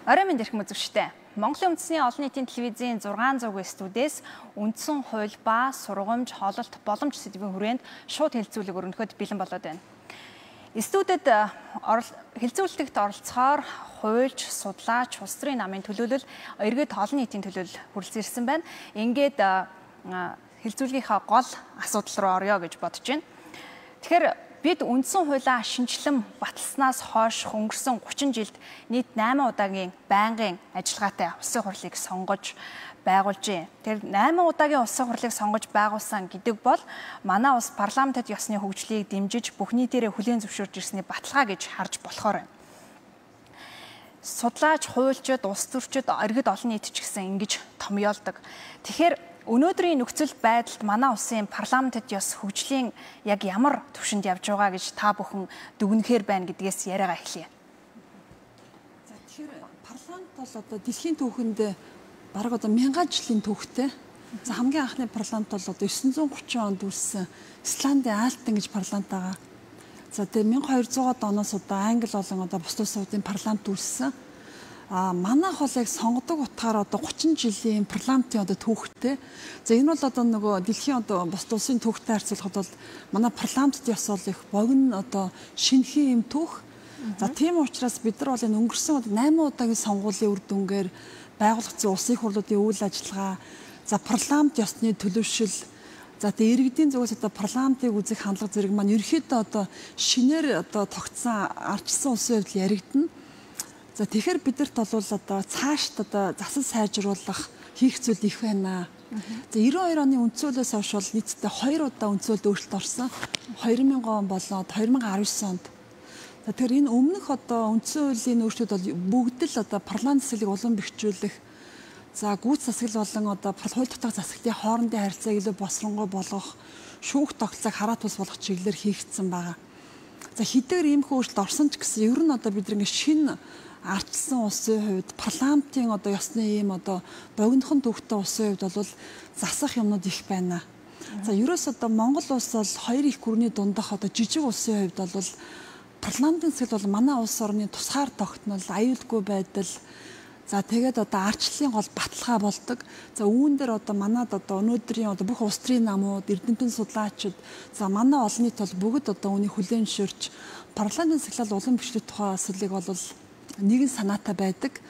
Орой минь эрхэм үзэгчтэй. Монголын үндэсний олон нийтийн телевизийн 600-гийн студиэс үндсэн хууль ба сургамж, хоололт, боломж сэдвийн хүрээнд шууд хэлэлцүүлэг өргөнөхөд бэлэн болоод байна. Студид хэлэлцүүлэгт оролцохоор хуульч, судлаач, улс төрийн намын төлөөлөл, иргэд олон нийтийн төлөөлөл хүрэлцэн ирсэн байна. Ингээд хэлэлцүүлгийнхаа гол асуудал руу орё гэж бодож байна. Тэгэхээр бид үндсэн хуулиа шинжилэн баталснаас хойш өнгөрсөн 30 жилд нийт 8 удаагийн байнгын ажиллагаатай улсын хурлыг сонгож байгуулж байна. Тэр 8 удаагийн улсын хурлыг сонгож байгуулсан гэдэг бол манай улс парламентод ёсны хөгжлийг дэмжиж бүх нийтээрээ хүлээн зөвшөөрж ирсний баталгаа гэж харж болохоор байна. Судлаач, хуульчид, улс төрчид, иргэд олон нийт ч гэсэн ингэж томьёолдог. Тэгэхээр өнөөдрийн нөхцөл байдалд манай улсын парламентод ёс хөгжлийн яг ямар түвшинд явж байгаа гэж та бүхэн дүгнэхээр байна гэдгээс яриагаа эхлэе. За тэгэхээр парламент бол одоо дэлхийн түүхэнд бараг одоо 1000 жилийн түүхтэй. За хамгийн анхны парламент бол одоо 930 онд үүссэн Исландын Альтен гэж парламент байгаа. За тэгээ 1200-аад оноос одоо Англи болон одоо бус улсуудын парламент үүссэн. Манайх бол яг сонгодог утгаар одоо 30 жилийн парламентын одоо түүхтэй. За энэ бол одоо нөгөө дэлхийн одоо бус улсын түүхтэй харьцуулахад бол манай парламентд ёс бол их богино одоо шинэхэн юм түүх. За тийм учраас бид нар бол энэ өнгөрсөн 8 удаагийн сонгуулийн үр дүнгээр байгуулагдсан улсын хурлуудын үйл ажиллагаа, за парламент ёсны төлөвшил, за тэгээ иргэдийн зүгээс одоо парламентыг үзэх хандлага зэрэг маань ерөөхдөө одоо шинээр одоо тогтсон ардчилсан улсын хувьд яригдана. За тэгэхээр бидэрт бол одоо цаашд одоо засал сайжруулах хийх зүйл их байна. За 92 оны үндсүүлээс хойш бол нийтдээ 2 удаа үндсүүлд өөрчлөлт орсон. 2000 он болоод 2019 онд. За тэгэхээр энэ өмнөх одоо үндсэн хуулийн өөрчлөлт бол бүгд л одоо парламент засаглыг улам бэхжүүлэх, за гүйц засаглал болон одоо хууль дотор засаглалын хоорондын харьцааг илүү босронгой болгох, шүүх тогтолцоог хараа тус болгох чиглэлээр хийгдсэн байгаа. За хэдийгээр иймэрхүү өөрчлөлт орсон ч гэсэн ер нь одоо бид нэг шинэ ардчилсан улсын хувьд парламентын одоо ёсны ийм одоо богинохон түүхтэй улсын хувьд бол засах юмнууд их байна. За ерөөс одоо Монгол улс бол хоёр их гүрний дундах одоо жижиг улсын хувьд бол парламентын засаг бол манай улс орны тусгаар тогтнол, аюулгүй байдал, за тэгээд одоо ардчлалын гол баталгаа болдог. За үүн дээр одоо манад одоо өнөөдрийн одоо бүх улс төрийн намууд, эрдэмтэн судлаачид, за манай олон нийт бол бүгд одоо үүнийг хүлээн зөвшөөрч парламентын засаглал улам бэхжүүлэх тухай асуудлыг бол нэгэн санаатай байдаг.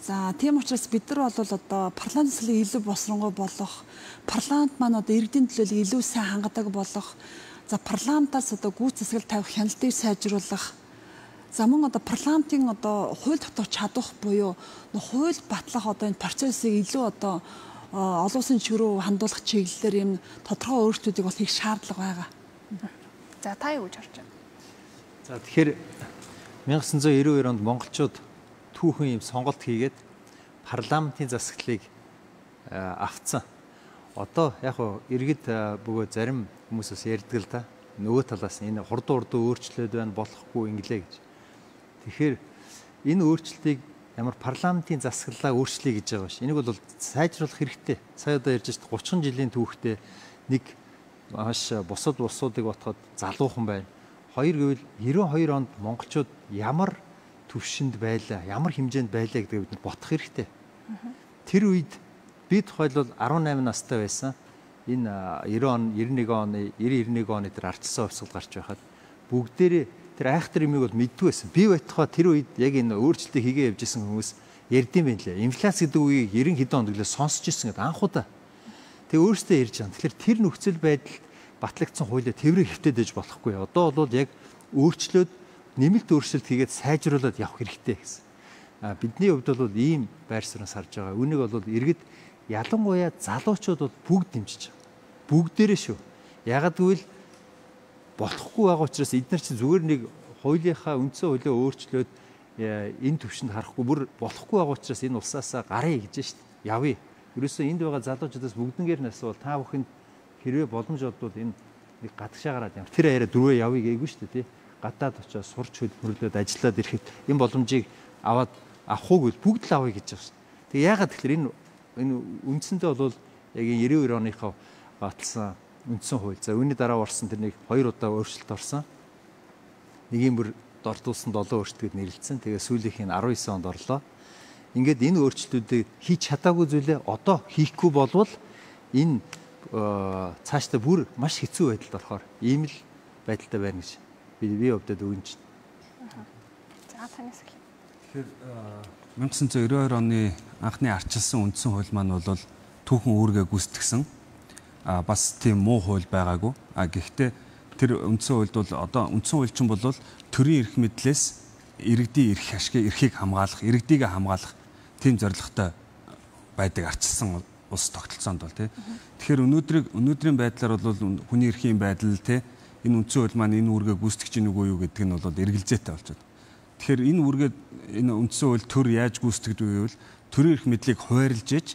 За тийм учраас бид нар бол одоо парламент засаглалыг илүү босронгой болгох, парламент маань одоо иргэдийн төлөөллийг илүү сайн хангадаг болгох, за парламентаас одоо гүйц засаглал тавих хяналтыг сайжруулах, за мөн одоо парламентын одоо хууль дотор чадвах буюу хууль батлах одоо энэ процессыг илүү одоо олон улсын чиглэл рүү хандуулах чиглэлээр юм тодорхой өөрчлөлтүүдийг бол хийх шаардлага байгаа. За та юу гэж харж байна? За тэгэхээр 1992 онд монголчууд түүхэн юм сонголт хийгээд парламентын засаглалыг авцсан. Одоо яг хөө иргэд бөгөө зарим хүмүүс бас ярьдаг л да. Нөгөө талаас энэ хурдан өөрчлөлт байна, болохгүй инглээ гэж. Тэгэхээр энэ өөрчлөлтийг ямар парламентын засаглалаа өөрчлөе гэж байгаа ш. Энийг бол сайжруулах хэрэгтэй. Сая одоо ярьж байгаа 30 жилийн түүхтэй нэг маш бусад улсуудыг ботход залуухан байна. Хоёр гэвэл 92 онд монголчууд ямар түвшинд байлаа, ямар хэмжээнд байлаа гэдгийг бид бодох хэрэгтэй. Тэр үед би тухайлбал 18 настай байсан. Энэ 91 оны тэр ардчилсан хувьсгал гарч байхад бүгдээрээ тэр айхтар юмыг бол мэддэг байсан. Би байтугай тэр үед яг энэ өөрчлөлтийг хийгээ явж исэн хүмүүс ярьдсан байх лээ. Инфляц гэдэг үгийг 90 хэдэн онд гэлээ сонсч ирсэн гэдэг анхудаа. Тэг өөрөөсөө ярьж байгаа. Тэгэхээр тэр нөхцөл байдалд батлагдсан хуулиа тэврээ хэвтээд ээж болохгүй. Одоо бол яг өөрчлөөд нэмэлт өөрчлөлт хийгээд сайжруулад явах хэрэгтэй гэсэн. Бидний хувьд бол ийм байр суурьнаас харж байгаа. Үүнийг бол иргэд ялангуяа залуучууд бол бүгд дэмжиж байгаа. Бүгдээрээ шүү. Ягаад гэвэл болохгүй байгаа учраас эдгээр чи зүгээр нэг хуулийнхаа үндсэн хуулиа өөрчлөөд энэ төвшөнд харахгүй бүр болохгүй байгаа учраас энэ улсаасаа гарыг гэж шít. Явъя. Ерөөсөө энд байгаа залуучуудаас бүгднгээр нь асуувал та бүхэнд хэрвээ боломж олдвол энэ нэг гадагшаа гараад ямар тэр арай дөрвөө явъя гээгүй шүү дээ тий. Гадаад очиж сурч хөдөлмөрлөд ажиллаад ирэхэд энэ боломжийг аваад авахгүй бол бүгд л авъя гэж байгаа шүү. Тэг яагаад тэгэхээр энэ үндсэндээ бол яг 92 оныхоо баталсан үндсэн хууль. За үүний дараа орсон тэр нэг 2 удаа өөрчлөлт орсон. Нэгийн бүр дордуулсан 7 өөрчлөлтөд нэрлэлсэн. Тэгээ сүүлийнх нь 19 онд орлоо. ингээд энэ өөрчлөлтүүдийг хийж чадаагүй зүйлээ одоо хийхгүй болвол энэ цаашдаа бүр маш хэцүү байдалд болохоор ийм л байдалтай байна гэж би өвдөд өгнө. За танаас эхлэе. Тэгэхээр 1992 оны анхны ардчилсан үндсэн хууль маань бол түүхэн үүргээ гүйцэтгсэн бас тийм муу хууль байгаагүй. Гэхдээ тэр үндсэн хуульд бол одоо үндсэн хуульчин бол төрийн эрх мэдлээс иргэдийн эрхийг хамгаалах, иргэдийгээ хамгаалах тийм зорилготой байдаг ардчилсан улс тогтолцоонд бол тий. Тэгэхээр өнөөдрийн байдлаар бол хүний эрхийн байдал тий энэ үндсэн хууль маань энэ үүргээ гүйцэтгэж гин үгүй юу гэдэг нь бол эргэлзээтэй болж байна. Тэгэхээр энэ үндсэн хууль төр яаж гүйцэтгэдэг вэ гэвэл төрийн эрх мэдлийг хуваарлж ээж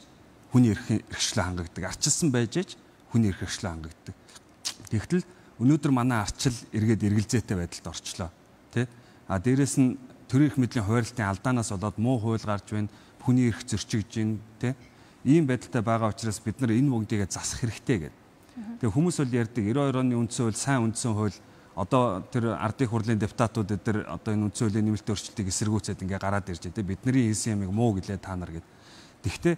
хүний эрхчлөө хангагддаг. Ардчилсан байж ээж хүний эрхчлөө хангагддаг. Тэгтэл өнөөдөр манай ардчил эргээд эргэлзээтэй байдалд орчлоо. Тэ? Дээрээс нь төрийн эрх мэдлийн хуваарлтын алдаанаас болоод муу хууль гарч байна. Хүний эрх зөрчигдөж байна. Тэ? Ийм байдалтай байгаа учраас бид нар энэ бүгдийг засах хэрэгтэй гэдэг. Тэгээ хүмүүс бол ярьдаг 92 оны үндсэн хууль сайн үндсэн хууль одоо тэр ардын хурлын депутатууд эдгээр одоо энэ үндсэн хуулийн нэмэлт өөрчлөлтийг эсэргүүцээд ингээ гараад ирж байгаа. Бидний хийсэн ямыг муу гэлээ та нар гэд. Тэгвэл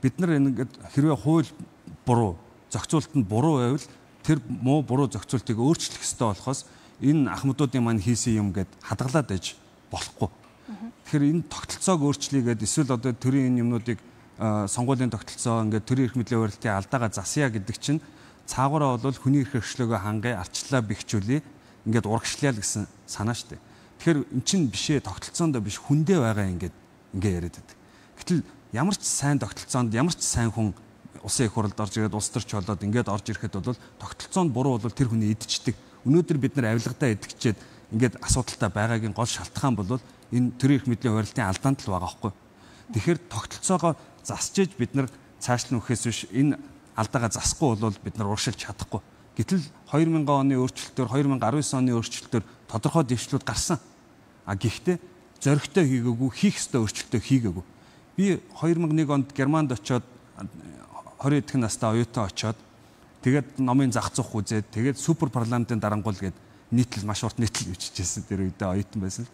бид нар ингээд хэрвээ хууль буруу, зохицуулт нь буруу байвал тэр муу буруу зохицуултыг өөрчлөх ёстой болохоос энэ ахмадуудын маань хийсэн юм гэд хадгалаад ээж болохгүй. Тэгэхээр энэ тогтолцоог өөрчлөгээд эсвэл одоо төрийн энэ юмнуудыг сонгуулийн тогтолцоо ингээд төрийн эрх мэдлийн хуваарлтын алдаагаа засъя гэдэг чинь цаагаараа бол хүний эрх хэрэгчлөөгөө хангая, арчлаа бэхжүүлээ ингээд урагшлаа л гэсэн санаа штэ. Тэгэхээр эн чинь бишээ тогтолцоонд биш хүндээ байгаа ингээд яриад байдаг. Гэтэл ямар ч сайн тогтолцоонд ямар ч сайн хүн улсын их хурлд орж ирээд улс төрч болоод ингээд орж ирэхэд бол тогтолцоонд буруу бол тэр хүний идчихдэг. Өнөөдөр бид нар авилгадаа идчихээд ингээд асуудалтай байгаагийн гол шалтгаан бол энэ төрийн эрх мэдлийн хуваарлтын алдаанд л байгаа байхгүй. Тэгэхээр тогтолцоогоо засчиж бид нар цааш нь өгөхөөс биш энэ алдаагаа засахгүй бол бид нар урагшилж чадахгүй. Гэтэл 2000 оны өөрчлөлтөөр 2019 оны өөрчлөлтөөр тодорхой дэвшлүүд гарсан. Гэхдээ зоригтой хийгээгүй, хийх ёстой өөрчлөлтөө хийгээгүй. Би 2001 онд Германд очоод 20 эдхэн настай оюутан очоод тэгээд номын зах зух үзээд тэгээд супер парламентын дарангуул гээд нийтлэл маш урт нийтлэл бичижсэн тэр үедээ оюутан байсан.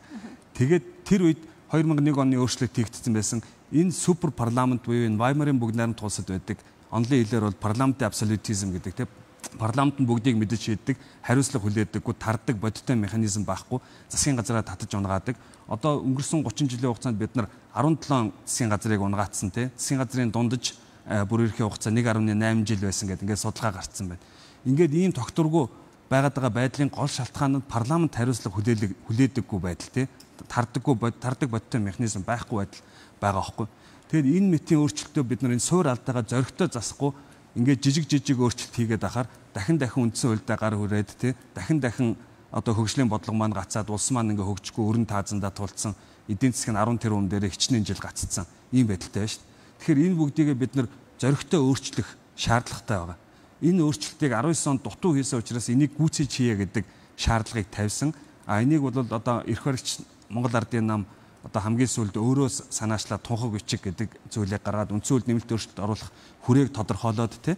Тэгээд тэр үед 2001 оны өөрчлөлт хийгдсэн байсан. Энэ супер парламент буюу энэ Ваймарын бүгд найрамд тулсад байдаг. Онлын хэлээр бол парламентын абсолютизм гэдэг тийм парламент нь бүгдийг мэдэж шийддэг, хариуцлага хүлээдэггүй, тардаг бодиттой механизм байхгүй, засгийн газараа татаж унгаадаг. Одоо өнгөрсөн 30 жилийн хугацаанд бид нар 17 засгийн газрыг унгаацсан тийм засгийн газрын дундаж бүр ерхий хугацаа 1.8 жил байсан гэдэг ингээд судалгаа гарцсан байна. Ингээд ийм тогтворгүй байгаад байгаа байдлын гол шалтгаан нь парламент хариуцлага хүлээдэггүй байдал тийм тардаг бодиттой механизм байхгүй байдал байгаа хөөхгүй. Тэгэхээр энэ мэтийн өөрчлөлтөө бид нар энэ суур алдаагаа зоригтой засахгүй ингээд жижиг өөрчлөлт хийгээд ахаар дахин үндсэн хуульдаа гар хүрээд тий дахин одоо хөгжлийн бодлого маань гацаад улс маань ингээ хөгжихгүй өрн таазандаа тулцсан эдийн засгийн 10 тэрбум дээр хичнээн жил гаццсан ийм байдалтай байна шүү дээ. Тэгэхээр энэ бүгдийг бид нар зоригтой өөрчлөх шаардлагатай байгаа. Энэ өөрчлөлтийг 19 онд дутуу хийсэн учраас энийг гүйцээж хийе гэдэг шаардлагыг тавьсан. Энийг бол одоо эрх баригч Монгол Ардын нам одоо хамгийн сүүлд өөрөө санаачлаад тунхаг бичиг гэдэг зүйлийг гаргаад үндсэн хууль нэмэлт өөрчлөлт оруулах хүрээг тодорхойлоод тий.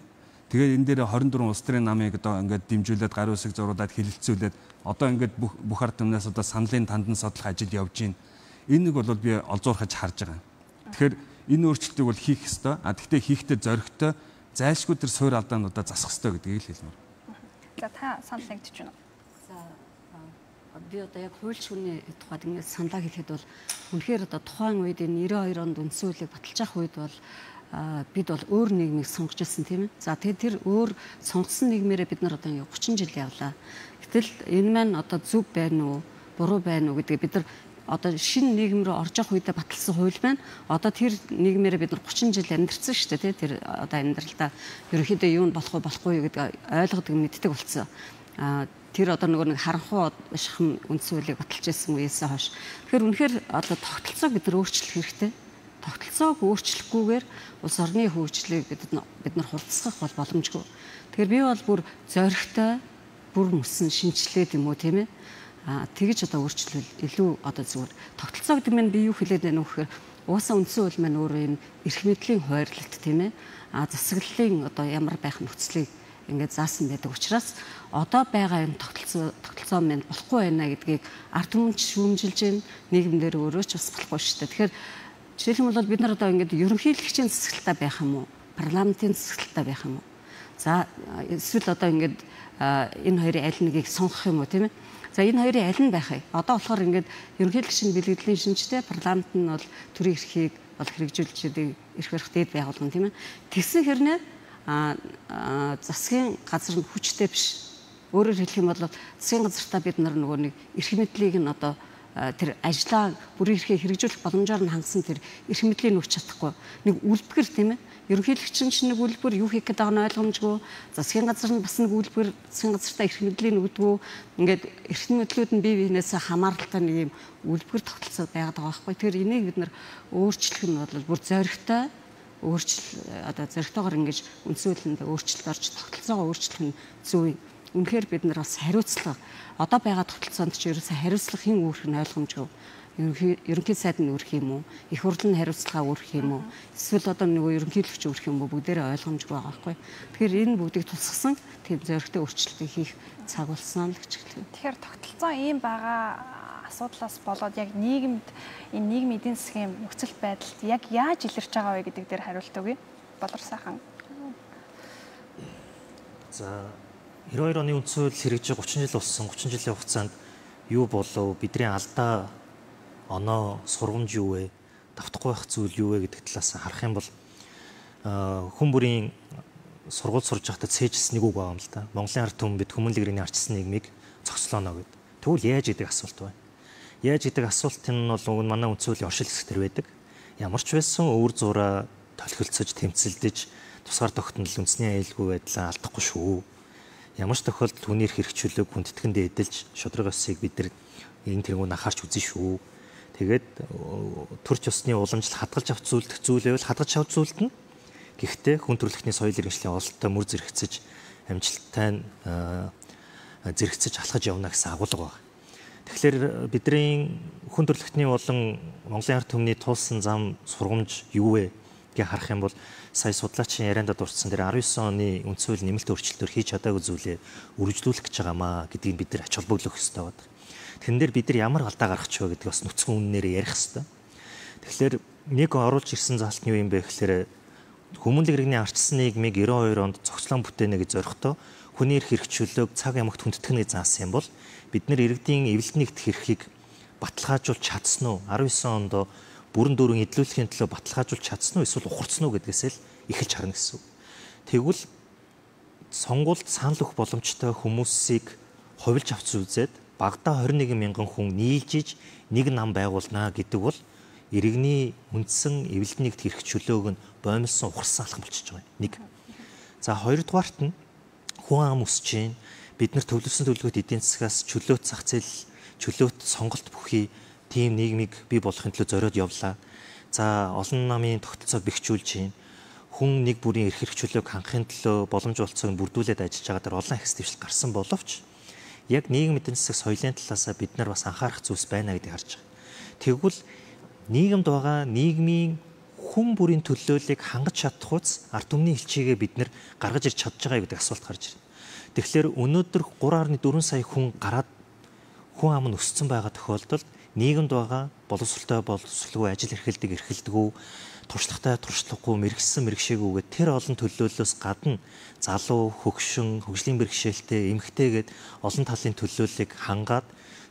Тэгээд энэ дээр 24 улс төрийн намыг одоо ингээд дэмжүүлээд гарын үсэг зуруудад хилэлцүүлээд одоо ингээд бүх ард түмнээс одоо саналын тандан судлах ажил явж байна. Энийг бол би олзуурхаж харж байгаа. Тэгэхээр энэ өөрчлөлтийг бол хийх ёстой. Гэхдээ хийхдээ зоригтой зайлшгүй тэр суур алдаануудаа засах ёстой гэдгийг л хэлмээр. За та санал нэгдэж байна уу? Би одоо яг хууль шүүний тухайд ингээд саналаа хэлэхэд бол үнэхээр одоо тухайн үед энэ 92 онд үндсэн хуулийг баталж авах үед бол бид бол өөр нийгмийг сонгож ирсэн тийм ээ. За тэгээд тэр өөр сонгосон нийгмээрээ бид нар одоо 30 жил явлаа. Гэтэл энэ маань одоо зөв байна уу, буруу байна уу гэдгийг бид нар одоо шинэ нийгэм рүү орж явах үедээ баталсан хууль байна. Одоо тэр нийгмээрээ бид нар 30 жил амьдарсан шүү дээ тийм. Тэр одоо амьдралдаа ерөнхийдөө юу нь болохгүй юу гэдгийг ойлгодог мэддэг болсон. Тэр одоо нэг харанхуй шахам үндсэн хуулийг баталж ирсэн үеэсээ хойш. Тэгэхээр үнэхээр одоо тогтолцоог бид нар өөрчлөх хэрэгтэй. Тогтолцоог өөрчлөхгүйгээр улс орны хөгжлийг бид нар хурцсах бол боломжгүй. Тэгэхээр би бол бүр зоригтой бүр мөсөн шинжилээд юм уу тийм ээ. Тэгэж одоо өөрчлөл илүү одоо зүгээр тогтолцоо гэдэг нь би юу хэлээд байна вэ гэхээр уусаа үндсэн хууль маань өөрөө юм эрх мэдлийн хуваарлалт тийм ээ. Засаглалын одоо ямар байх нөхцөлийг ингээд заасан байдаг учраас одоо байгаа юм тогтолцоо тогтолцоо маань болохгүй байна гэдгийг ард түмэн шүүмжилж байна. Нийгэмдэр өөрөө ч бас болохгүй шүү дээ. Тэгэхээр жишээлх юм бол бид нар одоо ингээд ерөнхийлөгчийн засаглалтаа байх юм уу? Парламентын засаглалтаа байх юм уу? За эсвэл одоо ингээд энэ хоёрын аль нэгийг сонгох юм уу, тийм ээ? За энэ хоёрын аль нь байх вэ? Одоо болохоор ингээд ерөнхийлөгчийн бэлгэдлийн шинжтэй, парламент нь бол төрийн эрхийг бол хэрэгжүүлждэг эрх барих дээд байгууллага, тийм ээ? Тэгсэн хэрнээ засгийн газар нь хүчтэй биш. Өөрөөр хэлэх юм бол засгийн газартаа бид нар нөгөө нэг эрх мэдлийг нь одоо тэр ажлаа бүрийн эрхээ хэрэгжүүлэх боломжоор нь хангасан тэр эрх мэдлийн өгч чадахгүй. Нэг үлбгэр, тийм ээ? Ерөнхийлөгч нь нэг үлбэр юу хийх гэдэг нь ойлгомжгүй. Засгийн газар нь бас нэг үлбэр засгийн газартаа эрх мэдлийн өгдөгөө. Ингээд эрх мэдлүүд нь бие биенээс хамааралтай нэг юм үлбгэр тогтолцоо байгаад байгаа байхгүй. Тэгэхээр энийг бид нар өөрчлөх нь бол бүр зоригтой одоо зоригтойгоор ингэж үндсэн хуулинд өөрчлөлт орж тогтолцоогоо өөрчлөх нь зөв юм. Үнэхээр бид нар бас хариуцлага одоо байгаа тогтолцоонд ч ерөөсөө хариуцлага хэн үүрэх нь ойлгомжгүй. Ерөнхий сайд нь үүрэх юм уу? Их хурл нь хариуцлага үүрэх юм уу? Эсвэл одоо нөгөө ерөнхийлөгч үүрэх юм уу? Бүгдээрээ ойлгомжгүй байгаа байхгүй. Тэгэхээр энэ бүгдийг тусгасан тийм зоригтой өөрчлөлтийг хийх цаг болсон л гэж хэлээ. Тэгэхээр тогтолцоо ийм байгаа асуудлаас болоод яг нийгэмд энэ нийгмийн эдийн засгийн нөхцөл байдалд яг яаж илэрч байгаа вэ гэдэг дээр хариулт өгье. Болор сайхан. За 92 оны үндсэн хууль хэрэгжиж 30 жил болсон. 30 жилийн хугацаанд юу болов? Бидний алдаа оноо сургамж юу вэ? Давтахгүй байх зүйл юу вэ гэдэг талаас харах юм бол хүн бүрийн сургууль сурж байхдаа цээжилсэн нэг үг байгаа юм л да. Монголын ард түмэн бид хүмүүнлэг иргэний арчсан нийгмийг цогцлооно гэд. Тэгвэл яаж гэдэг асуулт байна. Яаж гэдэг асуултын нь бол уг нь манай үндсэн хуулийн оршил хэсэг төр байдаг. Ямар ч байсан өвөр зураа толхилцож тэмцэлдэж тусгаар тогтнол үндэсний аюулгүй байдлаа алдахгүй шүү. Ямар ч тохиолдолд хүний эрх хэрэгжүүлэг хүндэтгэндээ эдэлж шудраг ёсыг бид нар энэ тэрнгүүн анхаарч үзэн шүү. Тэгээд төрч ёсны уламжлал хадгалж авч зүйлдэх зүйл байвал хадгалж авч зүйлдэн. Гэхдээ хүн төрөлхтний соёл иргэншлийн ололттой мөр зэрэгцэж амжилттай зэрэгцэж алхаж явна гэсэн агуулга байна. Тэгэхээр бидний хүн төрөлхтний болон Монголын ард түмний туулсан зам сургамж юу вэ гэж харах юм бол сая судлаачийн ярианда дурдсан дээр 19 оны үндсэн хуулийн нэмэлт өөрчлөлтөөр хийж чадаагүй зүйлээ үргэлжлүүлэх гэж байгаамаа гэдгийг бид нар ач холбогдох хэрэгтэй байна. Тэн дээр бид нар ямар алдаа гаргах вэ гэдэг бас нүцгэн үннээр ярих хэрэгтэй. Тэгэхээр нэг оруулж ирсэн заалт нь юу юм бэ гэхээр хүмүүнлэг иргэний арчсан нийгмийг 92 онд зохицлон бүтээнэ гэж зорихдоо хүний эрх хэрэгжүүлэг цаг ямагт хүндэтгэнэ гэж заасан юм бол бид нар иргэдийн эвлэл нэгдэх эрхийг баталгаажуулж чадсан уу? 19 онд бүрэн дүүрэн эдлүүлэхийн төлөө баталгаажуулж чадсан уу? Эсвэл ухарцсан уу гэдгээс л эхэлж харна гэсэн үг. Тэгвэл сонгуульд санал өгөх боломжтой хүмүүсийг хувилж авч үзээд багадаа 21 мянган хүн нийлжиж нэг нам байгуулнаа гэдэг бол иргэний үндсэн эвлэл нэгдэх эрх чөлөөг нь боомлсон ухарсан алхам болчихж байгаа юм. Нэг. За хоёрдугаарт нь хүн ам өсөж чинь бид нар төвлөрсөн төлөвлөгөөт эдийн засгаас чөлөөт зах зээл, чөлөөт сонголт бүхий тийм нийгмийг бий болгохын төлөө зориод явлаа. За олон намын тогтолцоо бэхжүүлж чинь хүн нэг бүрийн эрх хэрэгжүүлэг хангахын төлөө боломж олцоог бүрдүүлээд ажиллаж байгаа дээр олон ахис дэвшил гарсан боловч яг нийгэм эдийн засаг соёлын талаас бид нар бас анхаарах зүйлс байна гэдгийг харж байгаа. Тэгвэл нийгэмд байгаа нийгмийн хүн бүрийн төлөөллийг хангаж чадах үс ард түмний элчийгээ бид нар гаргаж ирж чадж байгаа гэдэг асуулт гарч ирнэ. Тэгэхээр өнөөдөр 3.4 сая хүн гараад хүн ам нь өссөн байгаа тохиолдолд нийгэмд байгаа боловсролгүй ажил эрхэлдэг туршлагатай туршлагагүй мэрэгсэн мэрэгшээгүйгээд тэр олон төлөөллөөс гадна залуу хөгшин хөгжлийн бэрхшээлтэй эмэгтэйгээд олон талын төлөөллийг хангаад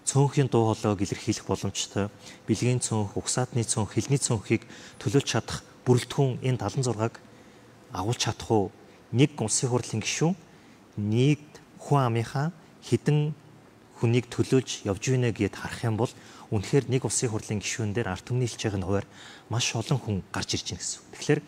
цөөнхийн дуу хоолойг илэрхийлэх боломжтой бэлгийн цөөнх, угсаатны цөөнх, хэлний цөөнхийг төлөөлж чадах бүрэлдэхүүн энэ 76-г агуулж чадах уу? Нэг улсын хурлын гишүүн нэг хүн амынхаа хідэн хүнийг төлөөлж явж гинэ гэд харах юм бол үнэхээр нэг улсын хурлын гишүүн дээр ард түмний хэлж байгаа хуваар маш олон хүн гарч ирж байна гэсэн. Тэгэхээр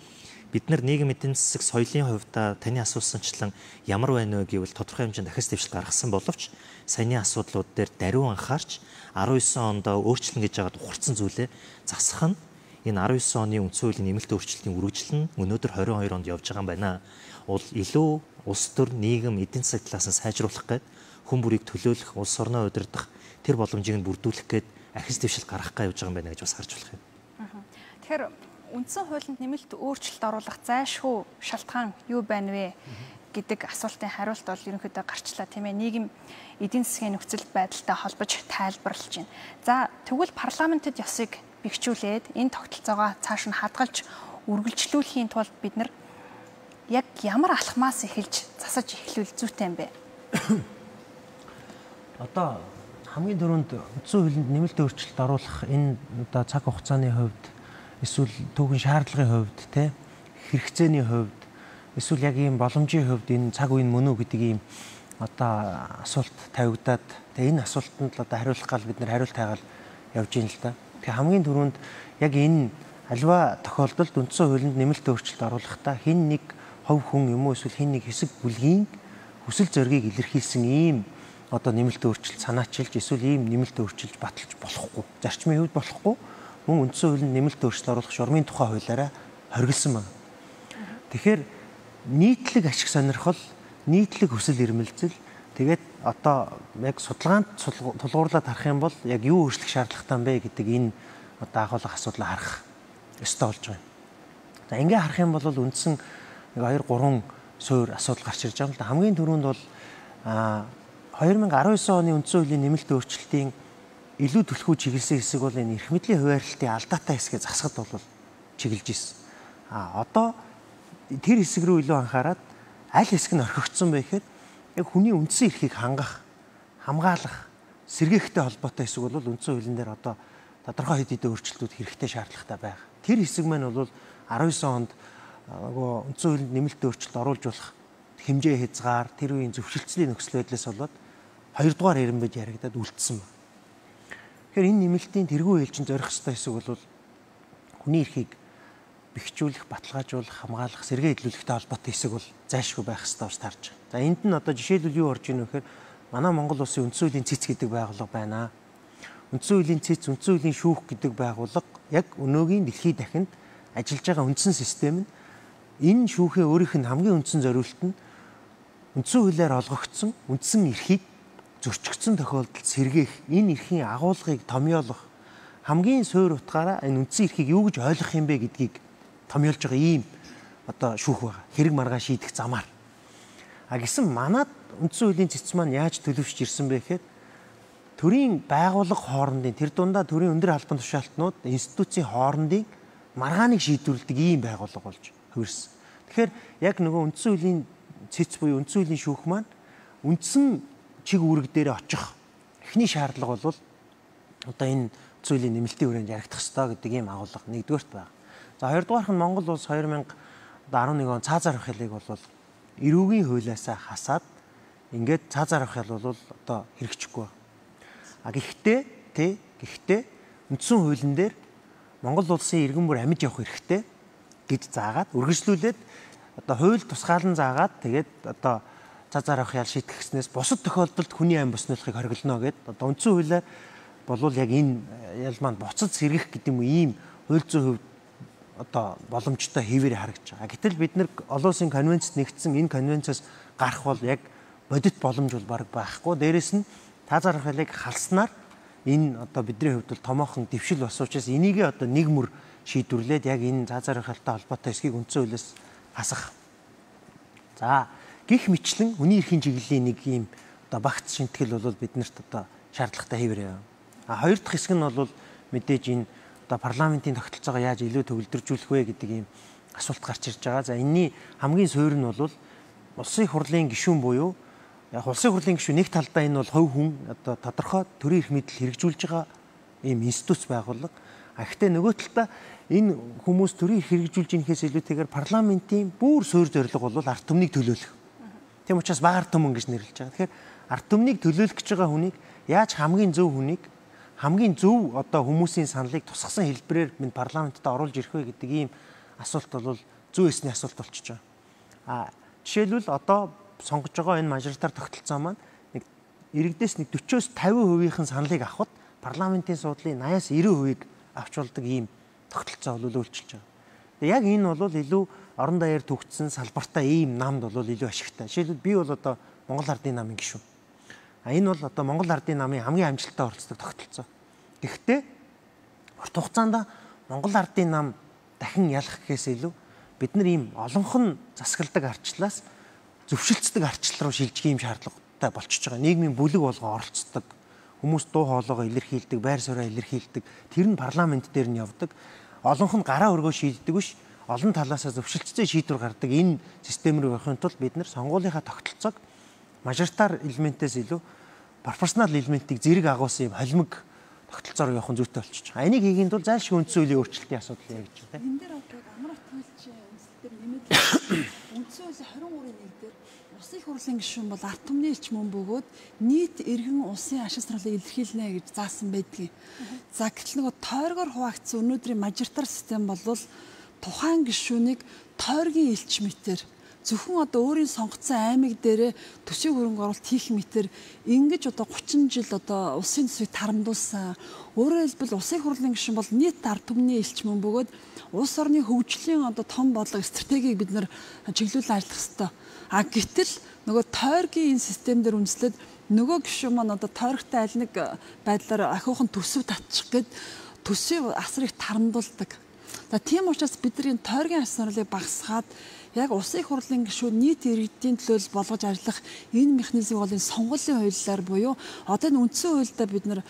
бид нар нийгэм эдийн засаг соёлын хувьдаа таны асуусанчлан ямар байна вэ гэвэл тодорхой хэмжээнд дахис дэвшил гаргасан боловч саяны асуудлууд дээр даруй анхаарч 19 онд өөрчлөн гэж яагаад ухарсан зүйлээ засах нь энэ 19 оны үндсэн хуулийн нэмэлт өөрчлөлтийн үргэлжлэл нь өнөөдөр 22 онд явж байгаа юм байна. Илүү улс төр нийгэм эдийн засаг талаас нь сайжруулах гээд хүн бүрийг төлөөлөх, улс орноо удирдах тэр боломжийг нь бүрдүүлэх гээд ахис дэвшил гаргах гэж явж байгаа юм байна гэж бас харж болох юм. Тэгэхээр үндсэн хуулинд нэмэлт өөрчлөлт оруулах зайлшгүй шалтгаан юу байна вэ гэдэг асуултын хариулт бол ерөнхийдөө гарчлаа тийм ээ. Нийгэм эдийн засгийн нөхцөл байдалтай холбож тайлбарлаж байна. За тэгвэл парламентэд ёсыг бэхжүүлээд энэ тогтолцоогоо цааш нь хадгалж үргэлжлүүлэхийн тулд бид нар яг ямар алхмаас эхэлж засаж эхлүүл зүйтэй юм бэ? Одоо хамгийн түрүүнд үндсэн хуулинд нэмэлт өөрчлөлт оруулах энэ одоо цаг хугацааны хувьд эсвэл түүхэн шаардлагын хувьд те хэрэгцээний хувьд эсвэл яг ийм боломжийн хувьд энэ цаг үе мөн үү гэдэг ийм одоо асуулт тавигдаад тэгээ энэ асуултанд л одоо хариулах гал бид нар хариулт хайгаал явж ийн л да. Тэгээ хамгийн түрүүнд яг энэ альва тохиолдолд үндсэн хуулинд нэмэлт өөрчлөлт оруулахдаа хэн нэг хувь хүн юм уу эсвэл хэн нэг хэсэг бүлгийн хүсэл зоригийг илэрхийлсэн ийм одоо нэмэлт өөрчлөлт санаачилж эсвэл ийм нэмэлт өөрчлөлт баталж болохгүй. Зарчмын хувьд болохгүй. Мөн үндсэн хуулинд нэмэлт өөрчлөлт оруулах шуурмын тухай хуулиараа хоригдсан байна. Тэгэхээр нийтлэг ашиг сонирхол, нийтлэг хүсэл эрмэлзэл тэгээд одоо яг судалгаанд тулгуурлаад харах юм бол яг юу өөрчлөх шаардлагатай бэ гэдэг энэ одоо агуулга асуудлаа харах ёстой болж байна. За ингээ харах юм бол үндсэн нэг 2-3 суур асуудал гарч ирж байгаа юм л да. Хамгийн түрүүнд бол 2019 оны үндсэн хуулийн нэмэлт өөрчлөлтийн илүү түлхүү чиглэсэн хэсэг бол энэ эрх мэдлийн хуваарлтын алдаатай хэсгээ засахад бол чиглэж ирсэн. Одоо тэр хэсэг рүү илүү анхаарад аль хэсэг нь орхигдсон бэ гэхээр яг хүний үндсэн эрхийг хамгаалах, сэргээхтэй холбоотой хэсэг бол үндсэн хуулийн дээр одоо тодорхой хэд хэдэн өөрчлөлтүүд хэрэгтэй шаардлагатай байгаа. Тэр хэсэг маань бол 19 онд нөгөө үндсэн хуулинд нэмэлт өөрчлөлт оруулж болох хэмжээ хязгаар, тэр үеийн зөвшөлтслийн нөхцөл байдлаас болоод 2 дугаар ирэмбэж яригадад үлдсэн байна. Тэгэхээр энэ нэмэлтийн тэргүү ээлжинд зорих ёстой хэсэг бол хүний эрхийг бэхжүүлэх, баталгаажуулах, хамгаалах, сэргээ илрүүлэхтэй холбоотой хэсэг бол зайлшгүй байх ёстой гэж тарж байна. За энд нь одоо жишээлбэл юу орж ийн вэ гэхээр манай Монгол улсын үндсэн хуулийн цэц гэдэг байгууллага байна. Үндсэн хуулийн цэц, үндсэн хуулийн шүүх гэдэг байгууллага яг өнөөгийн дэлхийн дахинд ажиллаж байгаа үндсэн систем нь энэ шүүхийн өөрийнх нь хамгийн үндсэн зориулт нь үндсэн хуулиар олгогдсон үндсэн эрхийг зөрчигдсөн тохиолдолд сэргээх, энэ эрхийн агуулгыг томьёолох хамгийн суур утгаараа энэ үндсэн эрхийг юу гэж ойлгох юм бэ гэдгийг томьёолж байгаа ийм одоо шүүх байгаа. Хэрэг маргаан шийдэх замаар. Гэсэн манад үндсэн хуулийн цэц маань яаж төлөвшж ирсэн бэ гэхээр төрийн байгууллага хоорондын тэр дундаа төрийн өндөр албан тушаалтнууд институцийн хоорондын маргааныг шийдвэрлэдэг ийм байгууллага болж хувирсан. Тэгэхээр яг нөгөө үндсэн хуулийн цэц буюу үндсэн хуулийн шүүх маань үндсэн чиг үүрэг дээр очих эхний шаардлага бол одоо энэ үндсэн хуулийн нэмэлтийн хүрээнд яригдах ёстой гэдэг ийм агуулга нэгдүгээрт байна. За хоёрдугаарх нь Монгол улс 2011 он цаазаар авах хэлийг бол эрүүгийн хуулиасаа хасаад ингээд цаазаар авах хэл бол одоо хэрэгжихгүй байна. Гэхдээ үндсэн хуулийн дээр Монгол улсын иргэн бүр амьд явах хэрэгтэй гэж заагаад үргэлжлүүлээд одоо хууль тусгаалan заагаад тэгээд одоо цаазаар авах ял шийдэх гэснээс бусад тохиолдолд хүний амь боснуулахыг хориглоно гэдэг одоо үндсэн хуулиар болвол яг энэ ял маань буцаж сэргэх гэдэг юм уу ийм хууль зүйн хувьд одоо боломжтой хэвээр харагдаж байгаа. Гэтэл бид нар олон улсын конвенцэд нэгдсэн энэ конвенцоос гарах бол яг бодит боломж бол баг байхгүй. Дээрэс нь цаазаар авах ялыг халснаар энэ одоо бидний хувьд бол томоохон дэвшил болсон учраас энийг одоо нэг мөр шийдвэрлээд яг энэ цаазаар авах ялтай холбоотой хэсгийг үндсэн хуулиас хасах. За гэх мэтлэн хүний эрхийн чиглэлийн нэг ийм одоо багц шинтгэл бол биднэрт одоо шаардлагатай хэвээр яваа. Хоёр дахь хэсэг нь бол мэдээж энэ одоо парламентын тогтолцоогоо яаж илүү төвлөржүүлэх вэ гэдэг ийм асуулт гарч ирж байгаа. За энэний хамгийн суурь нь бол улсын хурлын гишүүн буюу яг улсын хурлын гишүүн нэг талдаа энэ бол хувь хүн одоо тодорхой төрийн эрх мэдэл хэрэгжүүлж байгаа ийм институц байгууллага. Гэхдээ нөгөө талдаа энэ хүмүүс төрийн эрх хэрэгжүүлж инхээс илүүтэйгээр парламентын бүр суурь зорилго бол ард түмнийг төлөөлөх. Тийм учраас бага ард түмэн гэж нэрлэж байгаа. Тэгэхээр ард түмнийг төлөөлөх гэж байгаа хүнийг яаж хамгийн зөв одоо хүмүүсийн саналыг тусгасан хэлбэрээр минь парламентд оруулж ирэх вэ гэдэг ийм асуулт бол зүй эсний асуулт болчихж байгаа. Жишээлбэл одоо сонгож байгаа энэ мажоритар тогтолцоо маань нэг иргэдээс нэг 40-оос 50% саналыг авахд парламентын суудлын 80-аас 90% авч болдог ийм тогтолцоо бол үйлчилж байгаа. Тэгээ яг энэ бол илүү орон даяар төгссөн салбартай ийм намд бол илүү ашигтай. Жишээлбэл би бол одоо Монгол Ардын намын гишүүн. Энэ бол одоо Монгол Ардын намын хамгийн амжилттай оролцдог тогтолцоо. Гэхдээ урт хугацаанд Монгол Ардын нам дахин ялах гэхээс илүү бид нар ийм олонх нь засагладаг арчлаас зөвшөлдсдөг ардчлал руу шилжих юм шаардлагатай болчихж байгаа. Нийгмийн бүлэг болгоо оролцдог. Хүмүүс дуу хоолойгоо илэрхийлдэг, байр сууриа илэрхийлдэг. Тэр нь парламент дээр нь явдаг. Олонх нь гараа өргөө шийддэг биш. Олон талаасаа зөвшөлтцөө шийдвэр гардаг энэ систем рүү явахын тулд бид нэр сонгуулийнхаа тогтолцоог мажоритар элементээс илүү пропорционал элементийг зэрэг агуулсан юм холимог тогтолцоор явах нь зүйтэй болчихж байгаа. Энийг хийхийн тулд зайлшгүй үндсэн хуулийн өөрчлөлтийн асуудал яг гэж байна. Энэ дээр одоо амрах төлөвчийн үндэслэлээр нэмээд үндсэн хуулийн 23-ийн 1 дээр Улсын их хурлын гишүүн бол ард түмний элч мөн бөгөөд нийт иргэн улсын ашиг сонирхлыг илэрхийлнэ гэж заасан байдгийг. За гэтэл нөгөө тойргоор хуваагдсан өнөөдрийн мажоритар систем бол тухайн гишүүнийг тойргийн элч мэтэр зөвхөн одоо өөрийн сонгоцсон аймаг дээрээ төсвийн хөрөнгө оруулалт хийх мэтэр ингэж одоо 30 жил одоо улсын төсвийг тарамдуулсан. Өөрөөр хэлбэл улсын хурлын гишүүн бол нийт ард түмний элч мөн бөгөөд улс орны хөгжлийн одоо том бодлого стратегийг бид нэр чиглүүлэн ажиллах ёстой. А гэтэл нөгөө тойргийн энэ систем дээр үндэслээд нөгөө гишүүн маань одоо тойрогтой аль нэг байдлаар ахиухан төсөв татчих гээд төсвийн асрыг тарамдуулдаг. За тийм учраас бидний тойргийн ашиг сонирхлыг багасгаад яг улсын их хурлын гишүүн нийт иргэдийн төлөө болгож ажиллах энэ механизм бол энэ сонгуулийн хуулиар буюу одоо энэ үндсэн хуульдаа бид нэр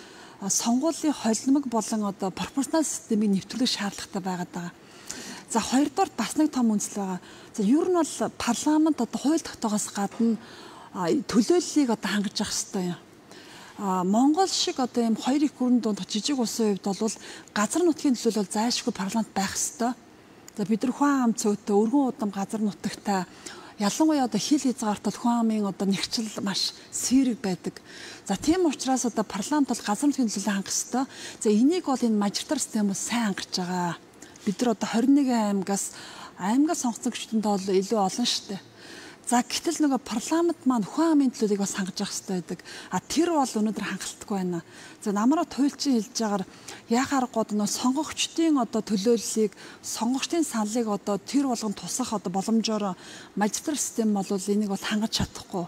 сонгуулийн холимог болон одоо пропорционал системийг нэвтрүүлэх шаардлагатай байгаад байгаа. За хоёрдугаар бас нэг том үндэслэл байгаа. За ер нь бол парламент одоо хууль тогтоогоос гадна төлөөллийг одоо хангаж явах хэрэгтэй юм. Монгол шиг одоо ийм хоёр их гүрэн дунд жижиг улсын хувьд бол газар нутгийн төлөөлөл бол зайлшгүй парламент байх хэрэгтэй. За бид нар хүн ам цөөтэй өргөн удам газар нутагтай ялангуяа одоо хил хязгаартал хүн амын одоо нэгчил маш сэрэг байдаг. За тийм учраас одоо парламент бол газар нутгийн төлөөлөл хангах хэрэгтэй. За энийг бол энэ мажоритар систем бол сайн хангаж байгаа. Бид нар одоо 21 аймагаас сонгоцсон гишүүдэнд бол илүү олон шүү дээ. За гэтэл нөгөө парламент маань хүн амын төлөөллийг бас хангаж явах хэрэгтэй байдаг. А тэр бол өнөөдөр хангалтгүй байна. За намраад хуульчин хэлж байгаагаар яхаарахгүй нөгөө сонгогчдын одоо төлөөллийг сонгогчдын саналыг одоо тэр болгон тусах одоо боломжоор мажоритар систем бол энийг бол хангаж чадахгүй.